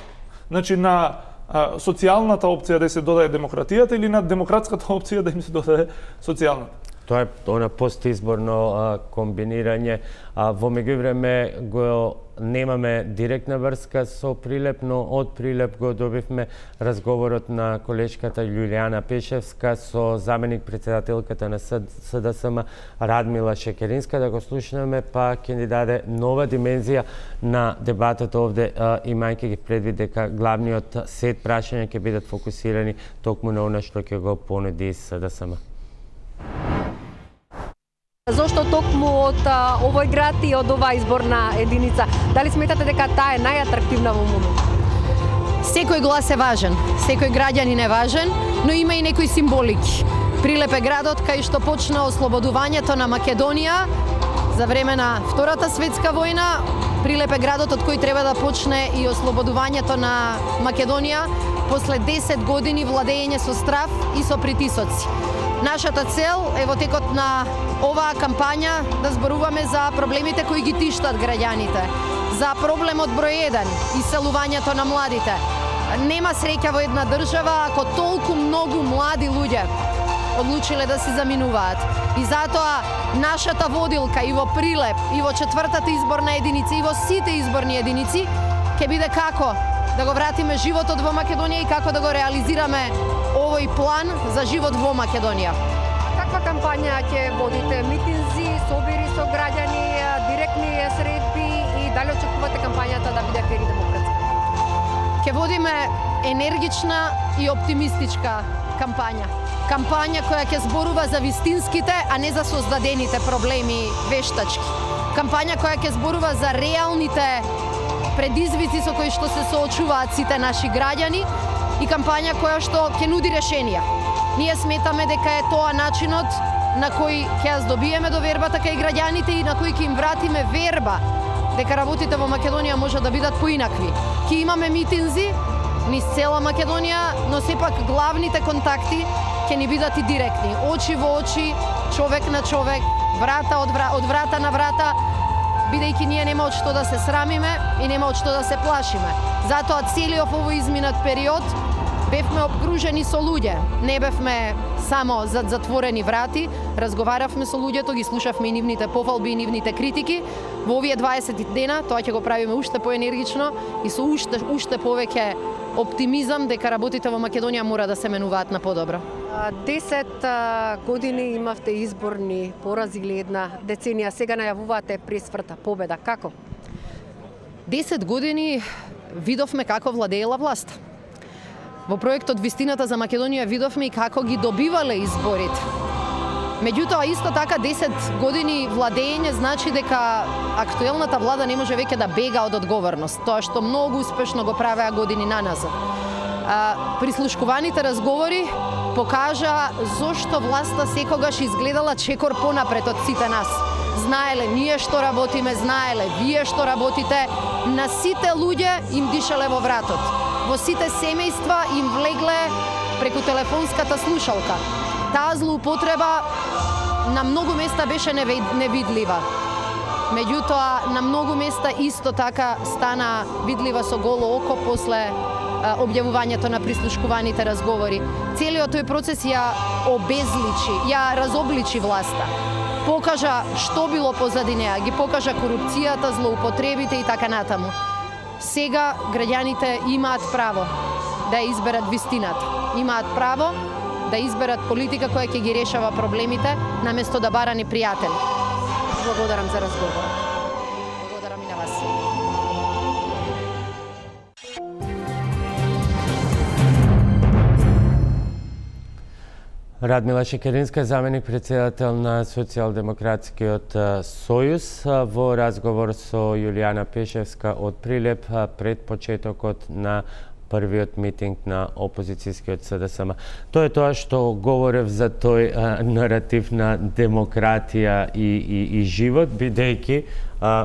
Значи на а, социјалната опција да се додаде демократијата или на демократската опција да им се додаде социјалната. Тоа е она постизборно а, комбинирање. А, во меѓувреме го немаме директна врска со Прилеп, но од Прилеп го добивме разговорот на колешката Јулијана Пешевска со заменик председателката на СДСМ Радмила Шекеринска, да го слушнеме, па ќе ни даде нова димензија на дебатот овде, имајќи ги предвид дека главниот сет прашања ќе бидат фокусирани токму на она што ќе го понуди СДСМ. Зошто токму од а, овој град и од оваа изборна единица? Дали сметате дека таа е најатрактивна во моментот? Секој глас е важен, секој граѓанин е важен, но има и некои символики. Прилеп е градот кај што почна ослободувањето на Македонија за време на Втората светска војна. Прилеп е градот од кој треба да почне и ослободувањето на Македонија после десет години владење со страв и со притисоци. Нашата цел е во текот на оваа кампања да зборуваме за проблемите кои ги тиштат граѓаните, за проблемот број еден, иселувањето на младите. Нема среќа во една држава ако толку многу млади луѓе одлучиле да се заминуваат. И затоа нашата водилка и во Прилеп, и во четвртата изборна единица, и во сите изборни единици ќе биде како да го вратиме животот во Македонија и како да го реализираме овој план за живот во Македонија. Каква кампања ќе водите? Митинзи, собири со граѓани, директни средби и Дали очекувате кампањата да биде фер и демократска? Ќе водиме енергична и оптимистичка кампања. Кампања која ќе зборува за вистинските, а не за создадените проблеми вештачки. Кампања која ќе зборува за реалните предизвици со кои што се соочуваат сите наши граѓани и кампања која што ќе нуди решенија. Ние сметаме дека е тоа начинот на кој ќе ја здобиеме довербата кај граѓаните и на кој ќе им вратиме верба дека работите во Македонија може да бидат поинакви. Ќе имаме митинзи низ цела Македонија, но сепак главните контакти ќе ни бидат и директни, очи во очи, човек на човек, врата од, вра, од врата на врата, бидејќи ние нема од што да се срамиме и нема од што да се плашиме. Затоа целиот овој изминат период бевме обкружени со луѓе. Не бевме само зад затворени врати, разговаравме со луѓето, ги слушавме и нивните пофалби и нивните критики. Во овие дваесет дена тоа ќе го правиме уште поенергично и со уште уште повеќе оптимизам дека работите во Македонија мора да се менуваат на подобро. Десет години имавте изборни порази или една деценија, сега најавувате пресврта победа. Како? Десет години видовме како владеела власта. Во проектот Вистината за Македонија видовме и како ги добивале изборите. Меѓутоа, исто така, десет години владење значи дека актуелната влада не може веќе да бега од одговорност, тоа што многу успешно го правеа години наназад. Прислушкуваните разговори покажа зошто власта секогаш изгледала чекор понапред од сите нас. Знаеле ние што работиме, знаеле вие што работите, на сите луѓе им дишале во вратот. Во сите семејства им влегле преку телефонската слушалка. Таа злоупотреба на многу места беше невидлива. Меѓутоа, на многу места исто така стана видлива со голо око после објавувањето на прислушкуваните разговори. Целиот тој процес ја обезличи, ја разобличи власта. Покажа што било позади неа, ги покажа корупцијата, злоупотребите и така натаму. Сега граѓаните имаат право да ја изберат вистината. Имаат право да изберат политика која ќе ги решава проблемите, наместо да бара непријатели. Благодарам за разговорот. Благодарам и на вас. Радмила Шекеринска, заменик председател на Социјалдемократскиот сојуз, во разговор со Јулијана Пешевска од Прилеп пред почетокот на првиот митинг на опозицијскиот СДСМ. Тоа е тоа што говорев за тој а, наратив на демократија и, и, и живот, бидејќи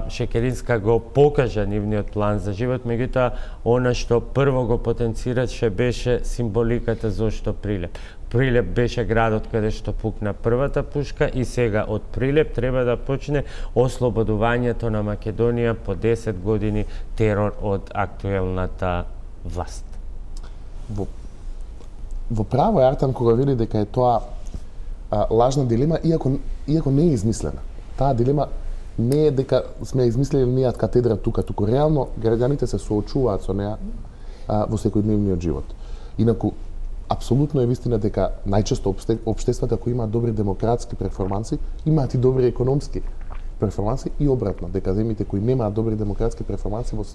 Шекеринска го покажа нивниот план за живот, меѓутоа она што прво го потенцираше беше символиката зошто Прилеп. Прилеп беше градот каде што пукна првата пушка и сега од Прилеп треба да почне ослободувањето на Македонија по десет години терор од актуелната власт. Во, во право е Артан кога вели дека е тоа а, лажна дилема, иако, иако не е измислена. Таа дилема не е дека сме измислили ние од катедра тука, туку реално граѓаните се соочуваат со неа а, во секојдневниот живот. Инаку, апсолутно е вистина дека најчесто општествата кои имаат добри демократски перформанси, имаат и добри економски перформанси и обратно, дека земјите кои немаат добри демократски перформанси во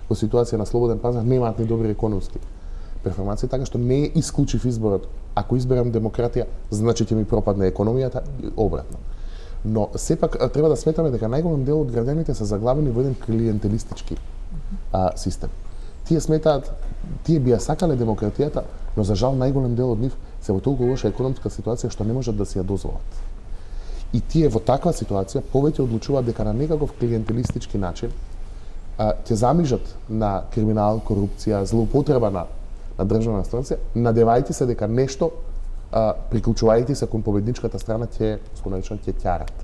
во ситуација на слободен пазар немаат ни добри економски перформанси, така што не е исклучив изборот. Ако изберам демократија, значи ќе ми пропадне економијата и обратно. Но сепак треба да сметаме дека најголем дел од граѓаните се заглавени во еден клиентелистички а, систем. Тие сметаат, тие би ја сакале демократијата, но за жал најголем дел од нив се во толку лоша економска ситуација што не можат да си ја дозволат. И тие во таква ситуација повеќе одлучуваат дека на некаков клиентелистички начин ќе замижат на криминал, корупција, злоупотреба на, на државна инстанција, надевајте се дека нешто, а, приклучувајте се кон победничката страна, ќе, сконечен, ќе ќарат.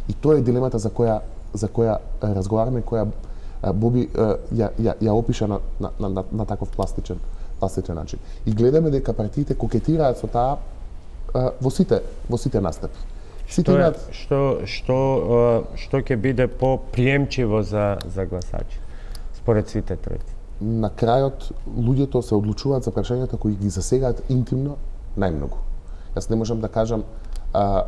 И тоа е дилемата за која, за која разговараме, која а, Боби а, ја, ја, ја опиша на, на, на, на, на таков пластичен, пластичен начин. И гледаме дека партиите кокетираат со таа а, во сите, во сите настапи. Што, е, што, што, што ќе биде по-приемчиво за, за гласачи, според сите тројци? На крајот, луѓето се одлучуваат за прашањата кои ги засегаат интимно најмногу. Јас не можам да кажам, а,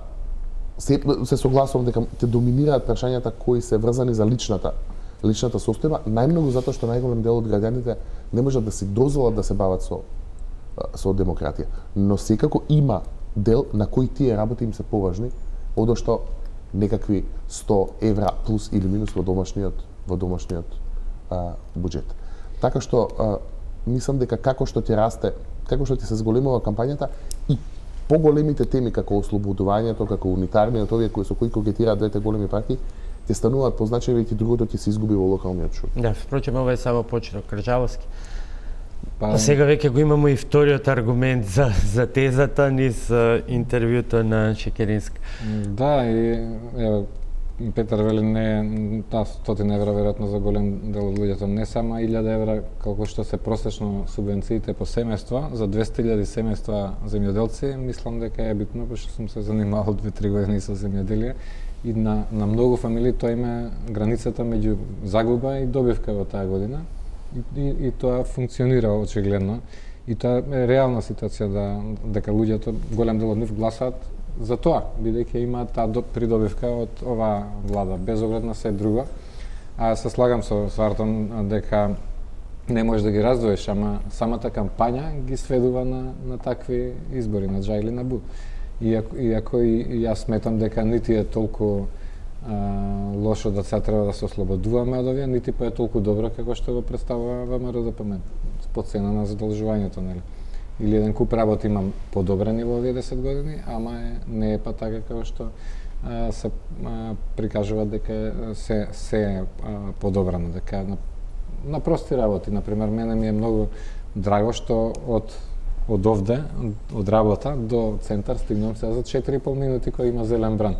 се, се согласувам дека ќе доминираат прашањата кои се врзани за личната личната состојба, најмногу затоа што најголем дел од граѓаните не можат да си дозволат да се бават со со демократија. Но секако има дел на кои тие работи им се поважни, одошто некакви сто евра плюс или минус во домашниот во домашниот а, буџет. Така што а, мислам дека како што ќе расте, како што ќе се зголемува кампањата и поголемите теми како ослободувањето, како унитарниот, овие кои со кои когетираат двете големи партии, ќе стануваат позначени и другото ќе се изгуби во локалниот шум. Да, впрочем ова е само почеток, Крджаловски. Па... А сега веќе го имамо и вториот аргумент за, за тезата низ интервјуто на Шекеринска. Да, и ево, Петар вели не таа стотина евра веројатно за голем дел од луѓето, не само илјада евра колку што се просечно субвенциите по семејство, за двесте илјади семејства земјоделци, мислам дека е битно, пошто сум се занимавал две-три години со земјоделие и на, на многу фамилии тоа има границата меѓу загуба и добивка во таа година. И, и, и тоа функционира очигледно. И тоа е реална ситуација да, дека луѓето, голем дел од нив гласаат за тоа, бидејќи имаат таа придобивка од оваа влада, без оглед на се друго. А се слагам со, со Артон дека не можеш да ги раздвоиш, ама самата кампања ги сведува на, на такви избори, на џа или на бу. Иако, иако и, и јас сметам дека нити е толку а, лошо да сега треба да се ослободуваме од овие, нити па е толку добро како што го представува ВМРО-ДПМН, по цена на задолжувањето, нели? Или еден куп работи имам подобрени во овие десет години, ама е, не е па така како што а, се а, прикажува дека се се е подобрано, дека на, на прости работи, например, мене ми е многу драго што од од овде, од работа до центар стигнам сега за четири и пол минути кој има зелен бран.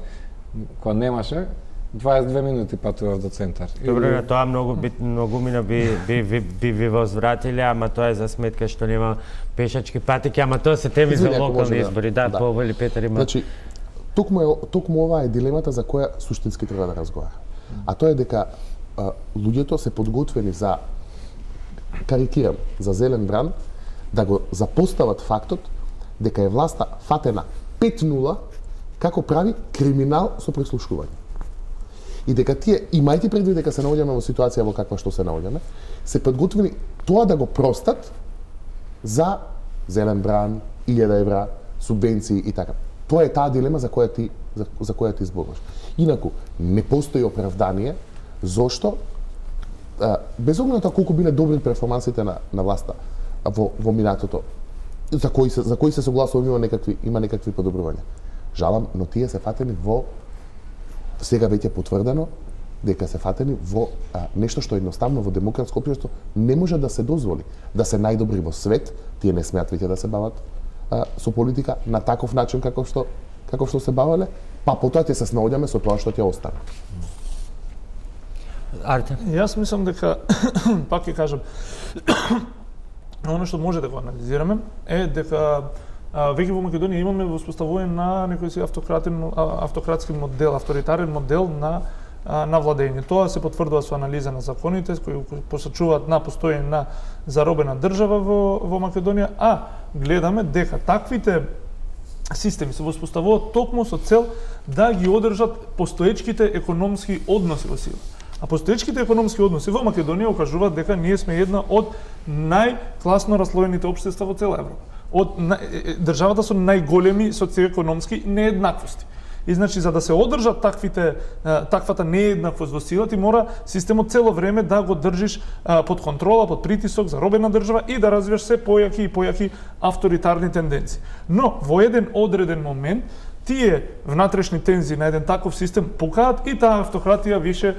Кога немаше, дваесет и две минути патував до центар. Добро, на тоа многу бит, многу мина би би би би ви возвратиле, ама тоа е за сметка што нема пешачки патеки, ама тоа се теми за локални избори. Да, да. Повели Петар има. Значи, токму е токму ова е дилемата за која суштински треба да разговара. А тоа е дека а, луѓето се подготвени за, карикирам, за зелен бран, да го запостават фактот дека е власта фатена пет нула како прави криминал со преслушување. И дека тие, имајќи предвид дека се наоѓаме во ситуација во каква што се наоѓаме, се подготвени тоа да го простат за зелен бран, илјада евра, субвенции и така. Тоа е таа дилема за која ти за, за која ти зборуваш. Инаку не постои оправдание зошто а, без оглед на тоа колку биле добри перформансите на на власта во во минатото, за кои се за кои се согласува има некакви има некакви подобрувања. Жалам, но тие се фатени во сега веќе потврдено дека се фатени во а, нешто што едноставно во демократско општество не може да се дозволи. Да се најдобри во свет, тие не смеат веќе да се бават а, со политика на таков начин како што како што се бавеле, па потоа ќе се снаоѓаме со тоа што ќе остане. Арте. Јас мислам дека пак ќе кажам оно што може да го анализираме е дека а, веќе во Македонија имаме воспоставување на некој си автократен автократски модел, авторитарен модел на на владење. Тоа се потврдува со анализа на законите кои посочуваат на постоење на заробена држава во во Македонија, а гледаме дека таквите системи се воспоставуваат токму со цел да ги одржат постоечките економски односи во сила. А постоечките економски односи во Македонија окажуваат дека ние сме една од најкласно раслоените општества во цела Европа. Од државата со најголеми социоекономски нееднаквости. И значи за да се одржат таквите таквата нееднаквост во сила, ти мора системот цело време да го држиш под контрола, под притисок, заробена држава и да развиваш се појаки и појаки авторитарни тенденции. Но во еден одреден момент тие внатрешни тензии на еден таков систем покажаат и таа автократија више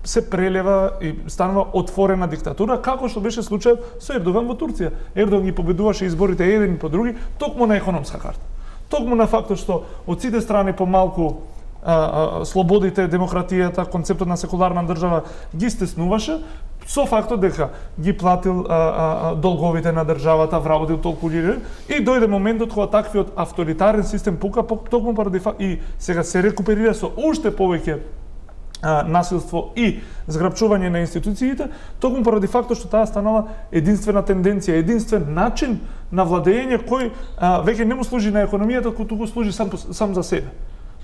се прелева и станува отворена диктатура, како што беше случајот со Ердоган во Турција. Ердоган ги победуваше изборите еден по други, токму на економска карта. Токму на фактот што од сите страни помалку а, а, слободите, демократијата, концептот на секуларна држава ги стеснуваше, со фактот дека ги платил а, а, долговите на државата, вработил толку лири, и дојде моментот кога таквиот авторитарен систем пука, токму поради факт, и сега се рекуперира со уште повеќе насилство и зграбчување на институциите, токму поради фактот што таа станала единствена тенденција, единствен начин на владење кој а, веќе не му служи на економијата, туку служи сам, сам за себе.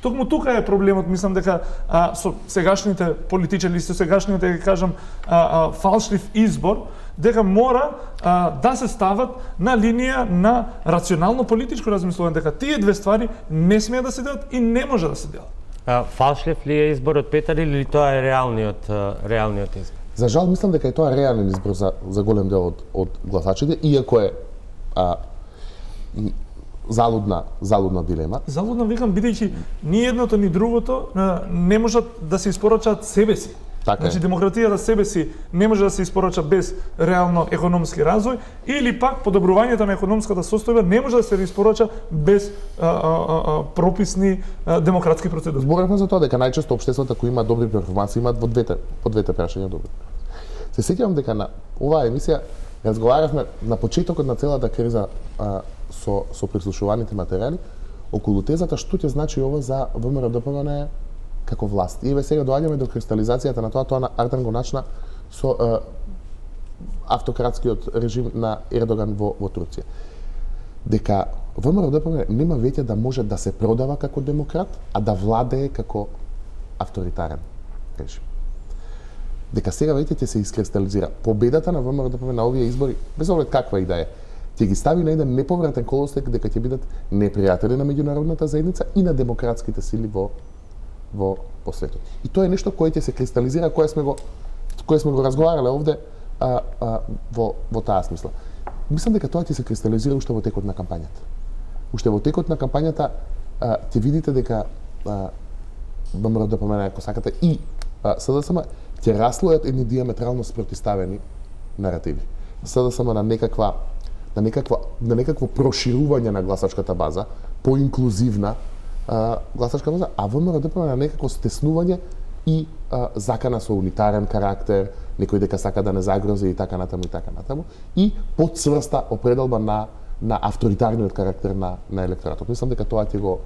Токму тука е проблемот, мислам дека а, со сегашните политичари, со сегашниот, да кажам, а, а, фалшлив избор, дека мора а, да се стават на линија на рационално политичко размислување, дека тие две ствари не смеат да се делат и не може да се делат. А, фалшлив ли е изборот, Петар, или тоа е реалниот, реалниот избор? За жал, мислам дека е тоа реален избор за, за голем дел од, од гласачите, иако е а, залудна, залудна дилема. Залудна, викам, бидејќи ни едното ни другото не можат да се испорачаат себе си. Така значи, е. демократијата себе си не може да се испорача без реално економски развој, или пак подобрувањето на економската состојба не може да се испорача без а, а, а, прописни а, демократски процедури. Зборевме за тоа дека најчесто општествата кои имаат добри перформанси имаат во двете, по двете прашања добри. Се сеќавам дека на оваа емисија разговаравме на почетокот на целата криза а, со, со прислушуваните материјали околу тезата што ќе значи ова за ВМРО-ДПМН како власт. И еве сега доаѓаме до кристализацијата на тоа, тоа на Ардан го начна со а, автократскиот режим на Ердоган во, во Турција. Дека ВМРО-ДПМН нема веќе да може да се продава како демократ, а да владее како авторитарен режим. Дека сега веќе ќе се искристализира победата на ВМРО-ДПМН на овие избори, без оглед каква и да е, ќе ги стави на еден неповратен колосек дека ќе бидат непријатели на меѓународната заедница и на демократските сили во во по светот. И тоа е нешто кое ќе се кристализира, кое сме го кое сме го разговарале овде а, а, во во таа смисла. Мислам дека тоа ќе се кристализира уште во текот на кампањата. Уште во текот на кампањата а, ќе видите дека ВМРО-ДПМН, ако сакате, и СДСМ ќе раслојат едни диаметрално спротивставени наративи. СДСМ на некаква на некаква на некакво проширување на гласачката база, поинклузивна а, гласачка база, а ВМРО-ДПМН на некако стеснување и а, закана со унитарен карактер, некој дека сака да не загрози и така натаму и така натаму, и подцврста определба на на авторитарниот карактер на на електоратот. Мислам дека тоа ќе го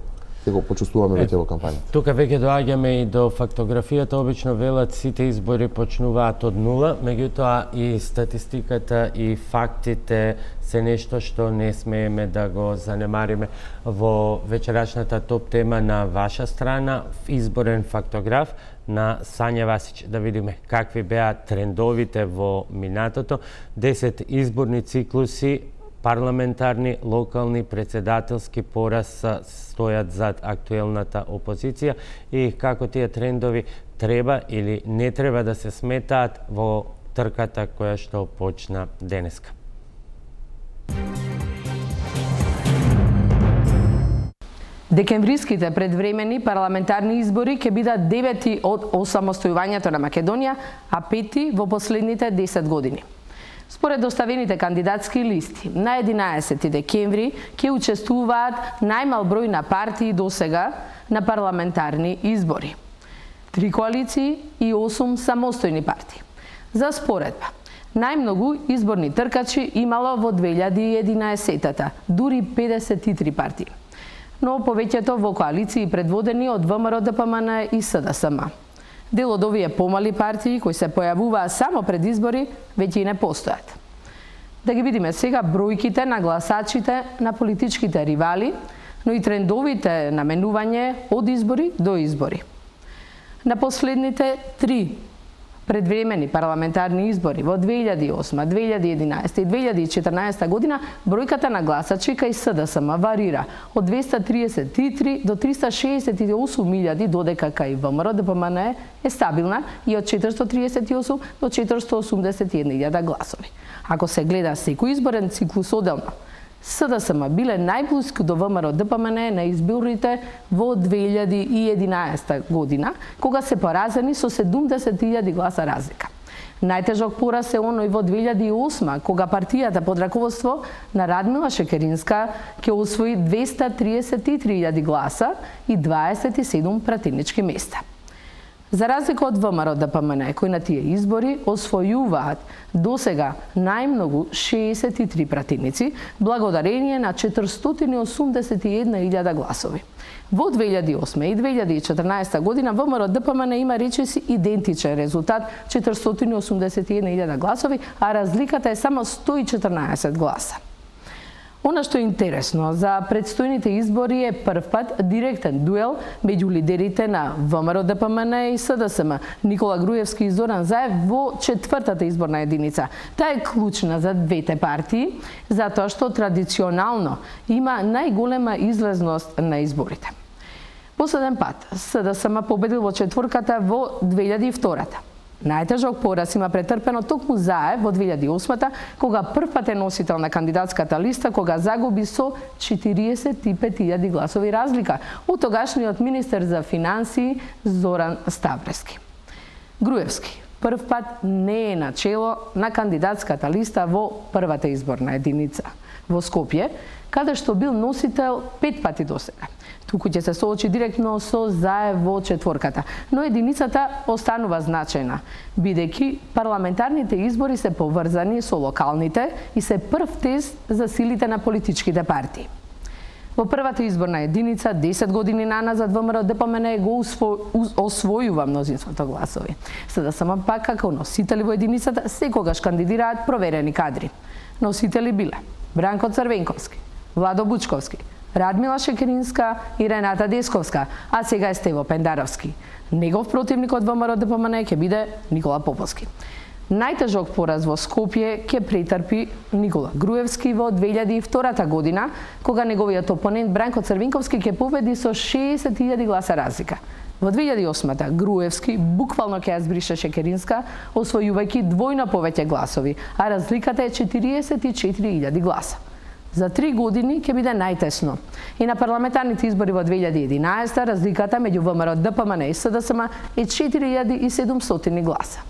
ќе го почувствуваме веќе во кампањата. Тука веќе доаѓаме и до фактографијата. Обично велат сите избори почнуваат од нула, меѓутоа и статистиката и фактите се нешто што не смееме да го занемариме. Во вечерачната топ тема на ваша страна, изборен фактограф на Сања Васич. Да видиме какви беа трендовите во минатото. десет изборни циклуси, парламентарни, локални, председателски пораз стојат зад актуелната опозиција и како тие трендови треба или не треба да се сметаат во трката која што почна денеска. Декемвриските предвремени парламентарни избори ќе бидат девети од осамостојувањето на Македонија, а пети во последните десет години. Според доставените кандидатски листи, на единаесети декември ќе учествуваат најмал број на партии досега на парламентарни избори. Три коалиции и осум самостојни партии. За споредба, најмногу изборни тркачи имало во две илјади и единаесетата, дури педесет и три партии. Но повеќето во коалиции предводени од ВМРО-ДПМН и СДСМ. Дел од овие помали партии кои се појавуваа само пред избори веќе и не постојат. Да ги видиме сега бројките на гласачите на политичките ривали, но и трендовите наменување од избори до избори. На последните три предвремени парламентарни избори во две илјади и осма, две илјади и единаесета и две илјади и четрнаесета година бројката на гласачи кај СДСМ варира од двеста триесет и три до триста шеесет и осум илјади, додека кај ВМРО-ДПМН е стабилна и од четиристотини триесет и осум до четиристотини осумдесет и една илјада гласови. Ако се гледа секој изборен циклус оделно, СДСМ биле најблиску до ВМРО-ДПМН на изборите во две илјади и единаесета година, кога се поразени со седумдесет илјади гласа разлика. Најтежок пораз е оној во две илјади и осма, кога партијата под раководство на Радмила Шекеринска ќе освои двеста триесет и три илјади гласа и дваесет и седум пратенички места. За разлика од ВМРО-ДПМН, кои на тие избори освојуваат досега најмногу шеесет и три пратеници, благодарение на четиристотини и осумдесет и една илјада гласови. Во две илјади и осма и две илјади и четрнаесета година ВМРО-ДПМН има речиси идентичен резултат, четиристотини и осумдесет и една илјада гласови, а разликата е само сто и четрнаесет гласа. Она што е интересно, за предстојните избори е прв пат директен дуел меѓу лидерите на ВМРО Д П М Н и С Д С М, Никола Груевски и Зоран Заев во четвртата изборна единица. Таа е клучна за двете партии, затоа што традиционално има најголема излезност на изборите. Последен пат С Д С М победил во четворката во две илјади и втората. Најтежок пораз има претрпено токму Заев во две илјади и осмата, кога прв пат е носител на кандидатската листа, кога загуби со четириесет и пет илјади гласови разлика од тогашниот министер за финансии Зоран Ставрески. Груевски прв пат не е на чело на кандидатската листа во првата изборна единица во Скопје, каде што бил носител пет пати досега. Туку ќе се соочи директно со Заев во четворката, но единицата останува значајна, бидејќи парламентарните избори се поврзани со локалните и се прв тест за силите на политичките партии. Во првата изборна единица, десет години наназад, ВМРО Д П М Н го освојува мнозинството гласови. Се да само пак како носители во единицата секогаш кандидираат проверени кадри. Носители биле Бранко Црвенковски, Владо Бучковски, Радмила Шекеринска и Рената Десковска, а сега е Стево Пендаровски. Негов противник од ВМРО Д П М Н ќе биде Никола Поповски. Најтежок пораз во Скопје ќе претрпи Никола Груевски во две илјади и втората година, кога неговиот опонент Бранко Црвенковски ќе победи со шеесет илјади гласа разлика. Во две илјади и осмата Груевски буквално ќе ја збрише Шекеринска, освојувајќи двојно повеќе гласови, а разликата е четириесет и четири илјади гласа. За три години ќе биде најтесно. И на парламентарните избори во две илјади и единаесета разликата меѓу ВМРО Д П М Н и С Д С М е четири илјади и седумстотини гласа.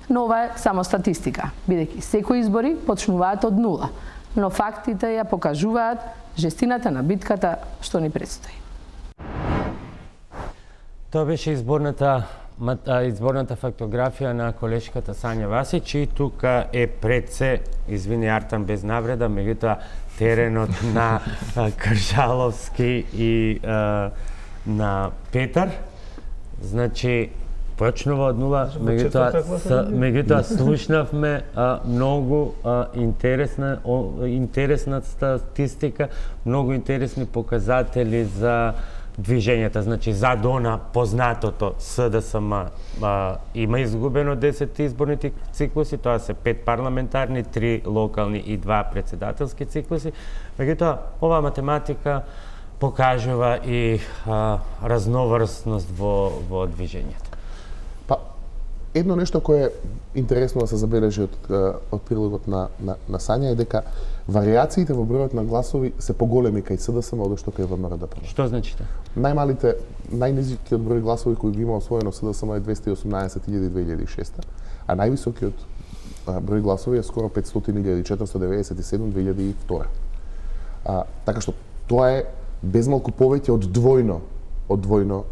Но ова е само статистика, бидејќи секои избори почнуваат од нула, но фактите ја покажуваат жестината на битката што ни предстои. Тоа беше изборната изборната фактографија на колешката Сања Васич и тука е пред се, извини Артан без навреда, меѓутоа теренот на Кржаловски и а, на Петар. Значи, почнува од нула, меѓутоа меѓутоа слушнавме а, многу а, интересна о, интересна статистика, многу интересни показатели за движењата, значи за дона познатото С Д С М а, има изгубено десет изборни циклуси, тоа се пет парламентарни, три локални и два председателски циклуси. Меѓутоа, оваа математика покажува и а, разноврсност во, во движењето. Па, едно нешто кое е интересно да се забележи од, од прилогот на, на, на Сања е дека вариациите во бројот на гласови се поголеми кај С Д С М од што кај ВМРО Д П М. Што значи тоа? Најмалите, најнизкиот број гласови кои ги има освоено С Д С М е двесте и осумнаесет илјади две илјади и шеста, а највисокиот број гласови е скоро петстотини илјади четиристотини деветдесет и седум две илјади и втора. А, така што тоа е безмалку повеќе од двојно, од двојно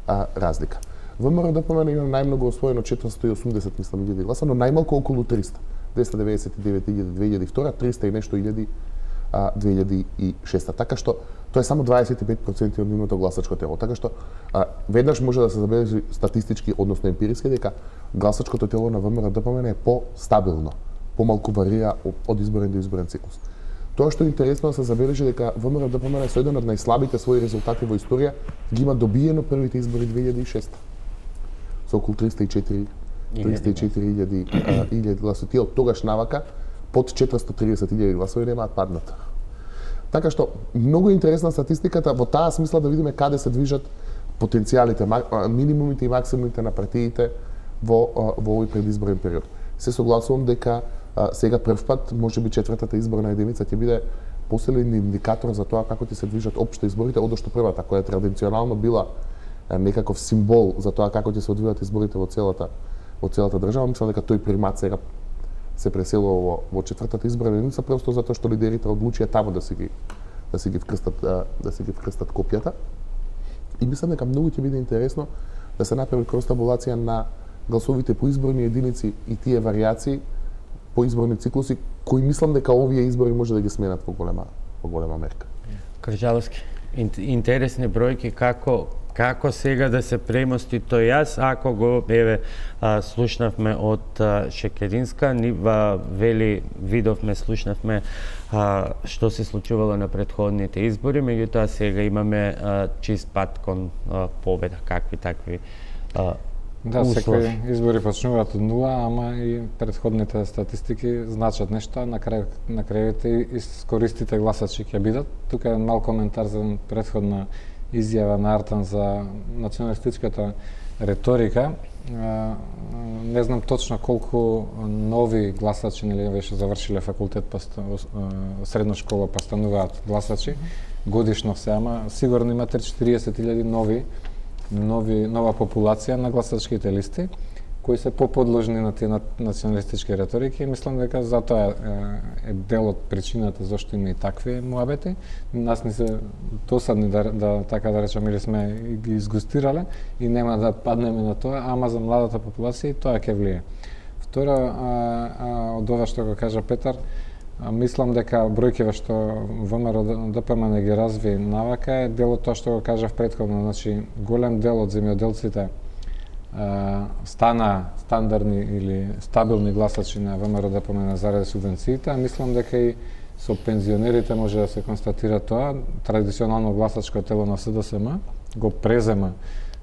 а, разлика. ВМРО Д П М има најмногу освоено четиристотини и осумдесет мислам илјади гласа, но најмалку околу триста. двесте деветдесет и девет илјади две илјади и втора, триста и нешто илјади две илјади и шеста. Така што тоа е само дваесет и пет проценти од нивното гласачко тело. Така што а, веднаш може да се забележи статистички, односно емпириски, дека гласачкото тело на ВМРО Д П М е по-стабилно, помалку варира од изборен до изборен циклус. Тоа што е интересно да се забележи дека ВМРО Д П М со еден од најслабите своји резултати во историја ги има добиено првите избори две илјади и шеста. Со околу триста и четири илјади гласови. Тие од тогаш навака под четиристотини и триесет илјади гласови немаат паднат. Така што многу интересна статистиката во таа смисла да видиме каде се движат потенцијалите, минимумите и максимумите на партиите во во овој предизборен период. Се согласувам дека а, сега прв пат можеби четвртата изборна единица ќе биде посилен индикатор за тоа како ќе се движат општо изборите, одошто првата која традиционално била а, некаков символ за тоа како ќе се одвијат изборите во целата во целата држава. Мислам дека тој примат сега се преселува во, во четвртата изборна единица просто затоа што лидерите одлучија таму да си ги да си ги вкрстат да си ги вкрстат копјата. И мислам дека многу ќе биде интересно да се направи кростабулација на гласовите по изборни единици и тие варијации по изборни циклуси кои мислам дека овие избори може да ги сменат во голема во голема мерка. Кржаловски, интересни бројки како како сега да се премости тој јас, ако го еве а, слушнавме од а, Шекеринска, ни ва, вели видовме, слушнавме а, што се случувало на претходните избори, меѓутоа сега имаме а, чист пат кон а, победа, какви такви а, Да, услови. секој избори почнуваат од нула, ама и претходните статистики значат нешто, на крај на крајите искористите гласачи ќе бидат. Тука е мал коментар за претходна изјава на Артан за националистичката реторика. Не знам точно колку нови гласачи, нели беше завршиле факултет па средна школа па стануваат гласачи годишно се, ама сигурно има триесет илјади нови нови нова популација на гласачките листи кои се поподложни на тие националистички реторики и мислам дека затоа е, е дел од причината зашто има и такви муабети. Нас не се досадни да, да така да речеме или сме ги изгустирале и нема да паднеме на тоа, ама за младата популација и тоа ќе влие. Второ, а, а, од ова што го кажа Петар, а, мислам дека бројките што ВМРО-ДПМН не ги разви навака е дел од тоа што го кажав претходно, значи голем дел од земјоделците стана стандардни или стабилни гласачи на ВМРО-ДПМН заради субвенциите, а мислам дека и со пензионерите може да се констатира тоа. Традиционално гласачко тело на СДСМ го презема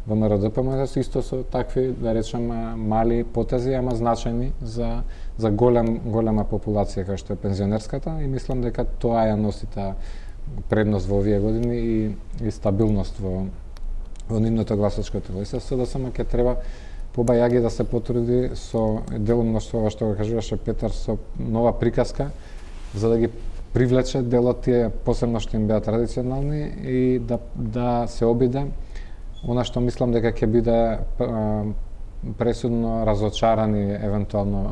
ВМРО-ДПМН исто со такви, да речем, мали потези, ама значајни за за голем голема популација како што е пензионерската и мислам дека тоа ја носи таа предност во овие години и, и стабилност во во нивното гласачко тело. И се СДСМ ќе треба побајаги да се потруди со делумно што што го кажуваше Петар, со нова приказка за да ги привлече дел од тие посебно што им беа традиционални и да да се обиде она што мислам дека ќе биде пресудно разочарани евентуално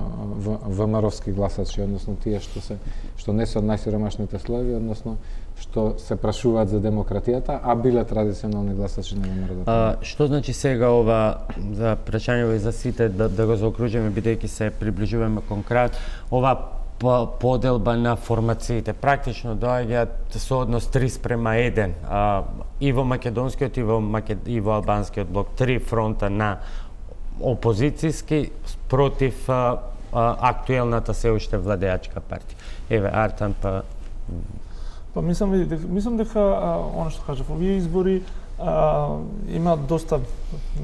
ВМРО-вски гласачи, односно тие што се што не се од најсиромашните слоеви, односно што се прашуваат за демократијата, а биле традиционални гласачи на ВМРО-ДПМН. Што значи сега ова за прашањето за сите да, да го заокружиме бидејќи се приближуваме кон крај, ова поделба на формациите практично доаѓаат со однос три спрема еден, а, и во македонскиот и во макед... и во албанскиот блок, три фронта на опозицијски против а, а, актуелната се уште владеачка партија. Еве Артан па Па мислам дека мислам дека а, она што кажав, овие избори а, има доста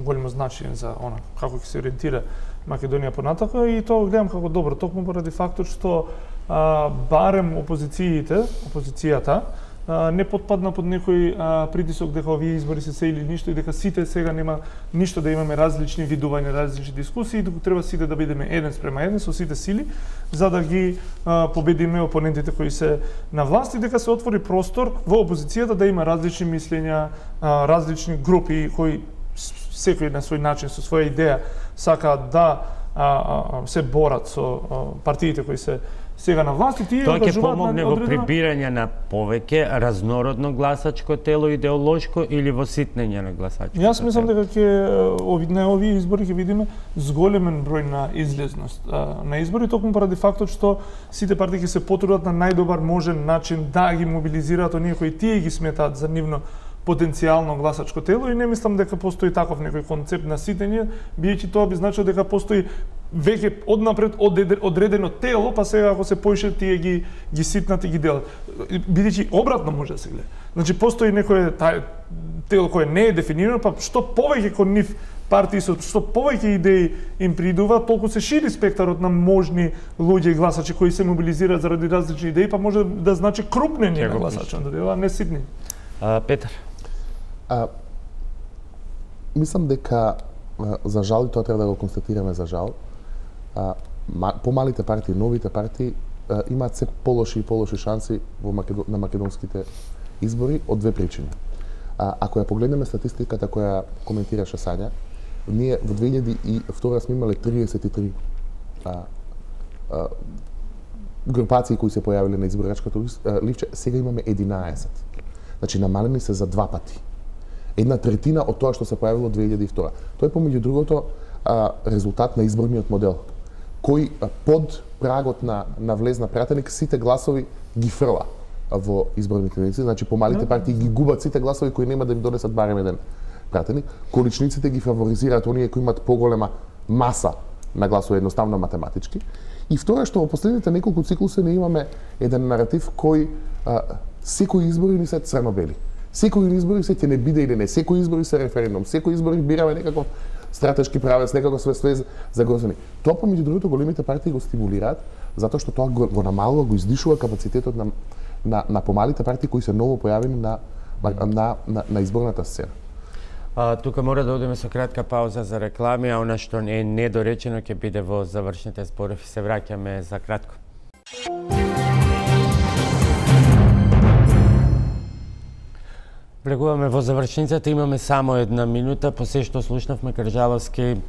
големо значење за она како ќе се ориентира Македонија понатака и тоа гледам како добро, токму поради фактот што а, барем опозициите, опозицијата а, не потпадна под некој а, притисок дека овие избори се се или ништо и дека сите сега нема ништо да имаме различни видувања, различни дискусии, туку треба сите да бидеме еден спрема еден со сите сили за да ги а, победиме опонентите кои се на власт и дека се отвори простор во опозицијата да има различни мислења, а, различни групи кои секој на свој начин со своја идеја сакаат да а, а, се борат со а, партиите кои се сега на власт и тие тоа ќе ангажуваат помогне на во одредена... прибирање на повеќе разнородно гласачко тело идеолошко или во ситнење на гласачко. Јас мислам дека ќе ови на овие избори ќе видиме зголемен број на излезност а, на избори токму поради фактот што сите партии ќе се потрудат на најдобар можен начин да ги мобилизираат оние кои тие ги сметаат за нивно потенцијално гласачко тело и не мислам дека постои таков некој концепт на ситење, биејќи тоа би значило дека постои веќе однапред одредено тело, па сега ако се поише тие ги ги ситнат и ги делат. Бидејќи обратно може да се гледа. Значи постои некое тај тело кое не е дефинирано, па што повеќе кон нив партии со што повеќе идеи им придува, толку се шири спектарот на можни луѓе и гласачи кои се мобилизираат заради различни идеи, па може да значи крупнење на гласачот, а не ситни. А, Петар. А, мислам дека за жал, и тоа треба да го констатираме за жал, а, помалите партии, новите партии а, имаат се полоши и полоши шанси во Македон... на македонските избори од две причини. А, ако ја погледнеме статистиката која коментираше Сања, ние во две илјади и втора сме имале триесет и три а, а, групации кои се појавиле на изборачкото ливче, сега имаме единаесет. Значи намалени се за два пати. Една третина од тоа што се појавило две илјади и втора. Тоа е помеѓу другото а, резултат на изборниот модел, кој а, под прагот на на влезна пратеник сите гласови ги фрла во изборните единици, значи помалите партии ги губат сите гласови кои нема да им донесат барем еден пратени. Количниците ги фаворизираат оние кои имаат поголема маса на гласови, едноставно математички. И второ што во последните неколку циклуси не имаме еден наратив кој а, секои избори ни се црно-бели. Секои избори се ќе не биде или не, секои избори се референдум, секои избори бираме некаков стратешки правец, некако све све за грозени. Тоа помеѓу другото големите партии го стимулираат затоа што тоа го, го намалува, го издишува капацитетот на на на помалите партии кои се ново појавени на на на, на, на изборната сцена. А, тука мора да одиме со кратка пауза за реклами, а она што не е недоречено ќе биде во завршните зборови. Се враќаме за кратко. Влегуваме во завршницата, имаме само една минута, по се што слушнавме Кржаловски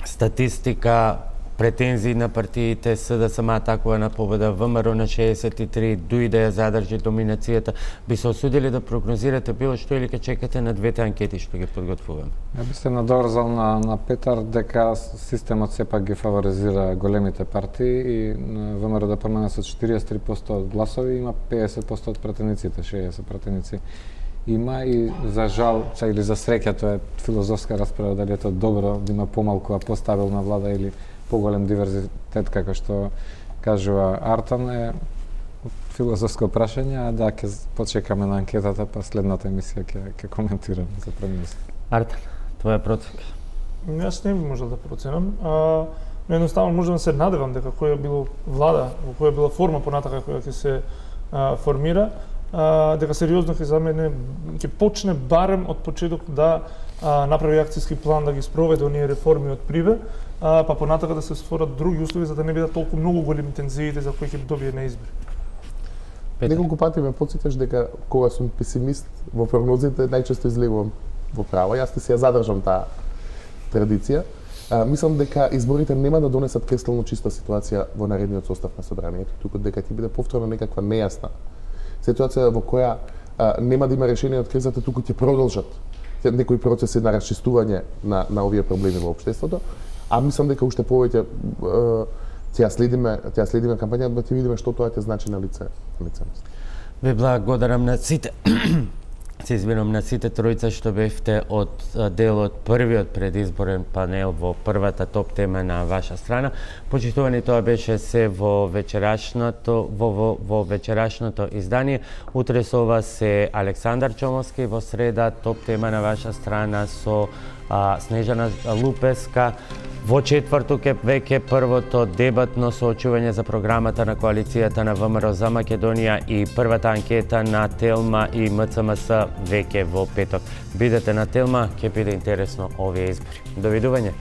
статистика, претензии на партиите, СДСМ атакува на победа, ВМРО на шеесет и три, дуи да ја задржи доминацијата. Би се осудили да прогнозирате било што или ке чекате на двете анкети што ги подготвуваме? Ја би се надорзал на, на Петар дека системот сепак ги фаворизира големите партии и ВМРО да промена со четириесет и три проценти од гласови има пеесет проценти од пратениците, шеесет пратеници има и за жал, ча или за среќа, тоа е филозофска расправа дали е тоа добро да има помалку а постабилна влада или поголем диверзитет како што кажува Артан е филозофско прашање, а да ќе почекаме на анкетата па следната емисија ќе ќе коментираме за прогноз. Артан, твоја проценка? Јас не би можел да проценам, а едноставно можам да се надевам дека која било влада, во која била форма понатака која ќе се а, формира, а, дека сериозно ќе за мене ќе почне барем од почеток да а, направи акцијски план да ги спроведе оние реформи од приве, а, па понатака да се створат други услови за да не бидат толку многу големи тензиите за кои ќе добие на избори. Неколку пати ме потсеташ дека кога сум песимист во прогнозите најчесто излегувам во права. Јас ти се ја задржам таа традиција. А, мислам дека изборите нема да донесат кристално чиста ситуација во наредниот состав на собранието, туку дека ќе биде повторно некаква нејасна ситуација во која а, нема да има решение од кризата, туку ќе продолжат некои процеси на расчистување на на овие проблеми во општеството. А мислам дека уште повеќе ќе ја следиме, ќе ја следиме кампањата, да ќе видиме што тоа ќе значи на лице, на лице. Ви благодарам на сите. Се извинувам на сите тројца што бевте од дел од првиот предизборен панел во првата топ тема на ваша страна. Почитувани, тоа беше се во вечерашното во во, во вечерашното издание. Утре со вас се Александар Чомовски, во среда топ тема на ваша страна со а, Снежана Лупеска. Во четврток е веќе првото дебатно соочување за програмата на коалицијата на ВМРО за Македонија и првата анкета на Телма и МЦМС веќе во петок. Бидете на Телма, ќе биде интересно овие избори. Довидување.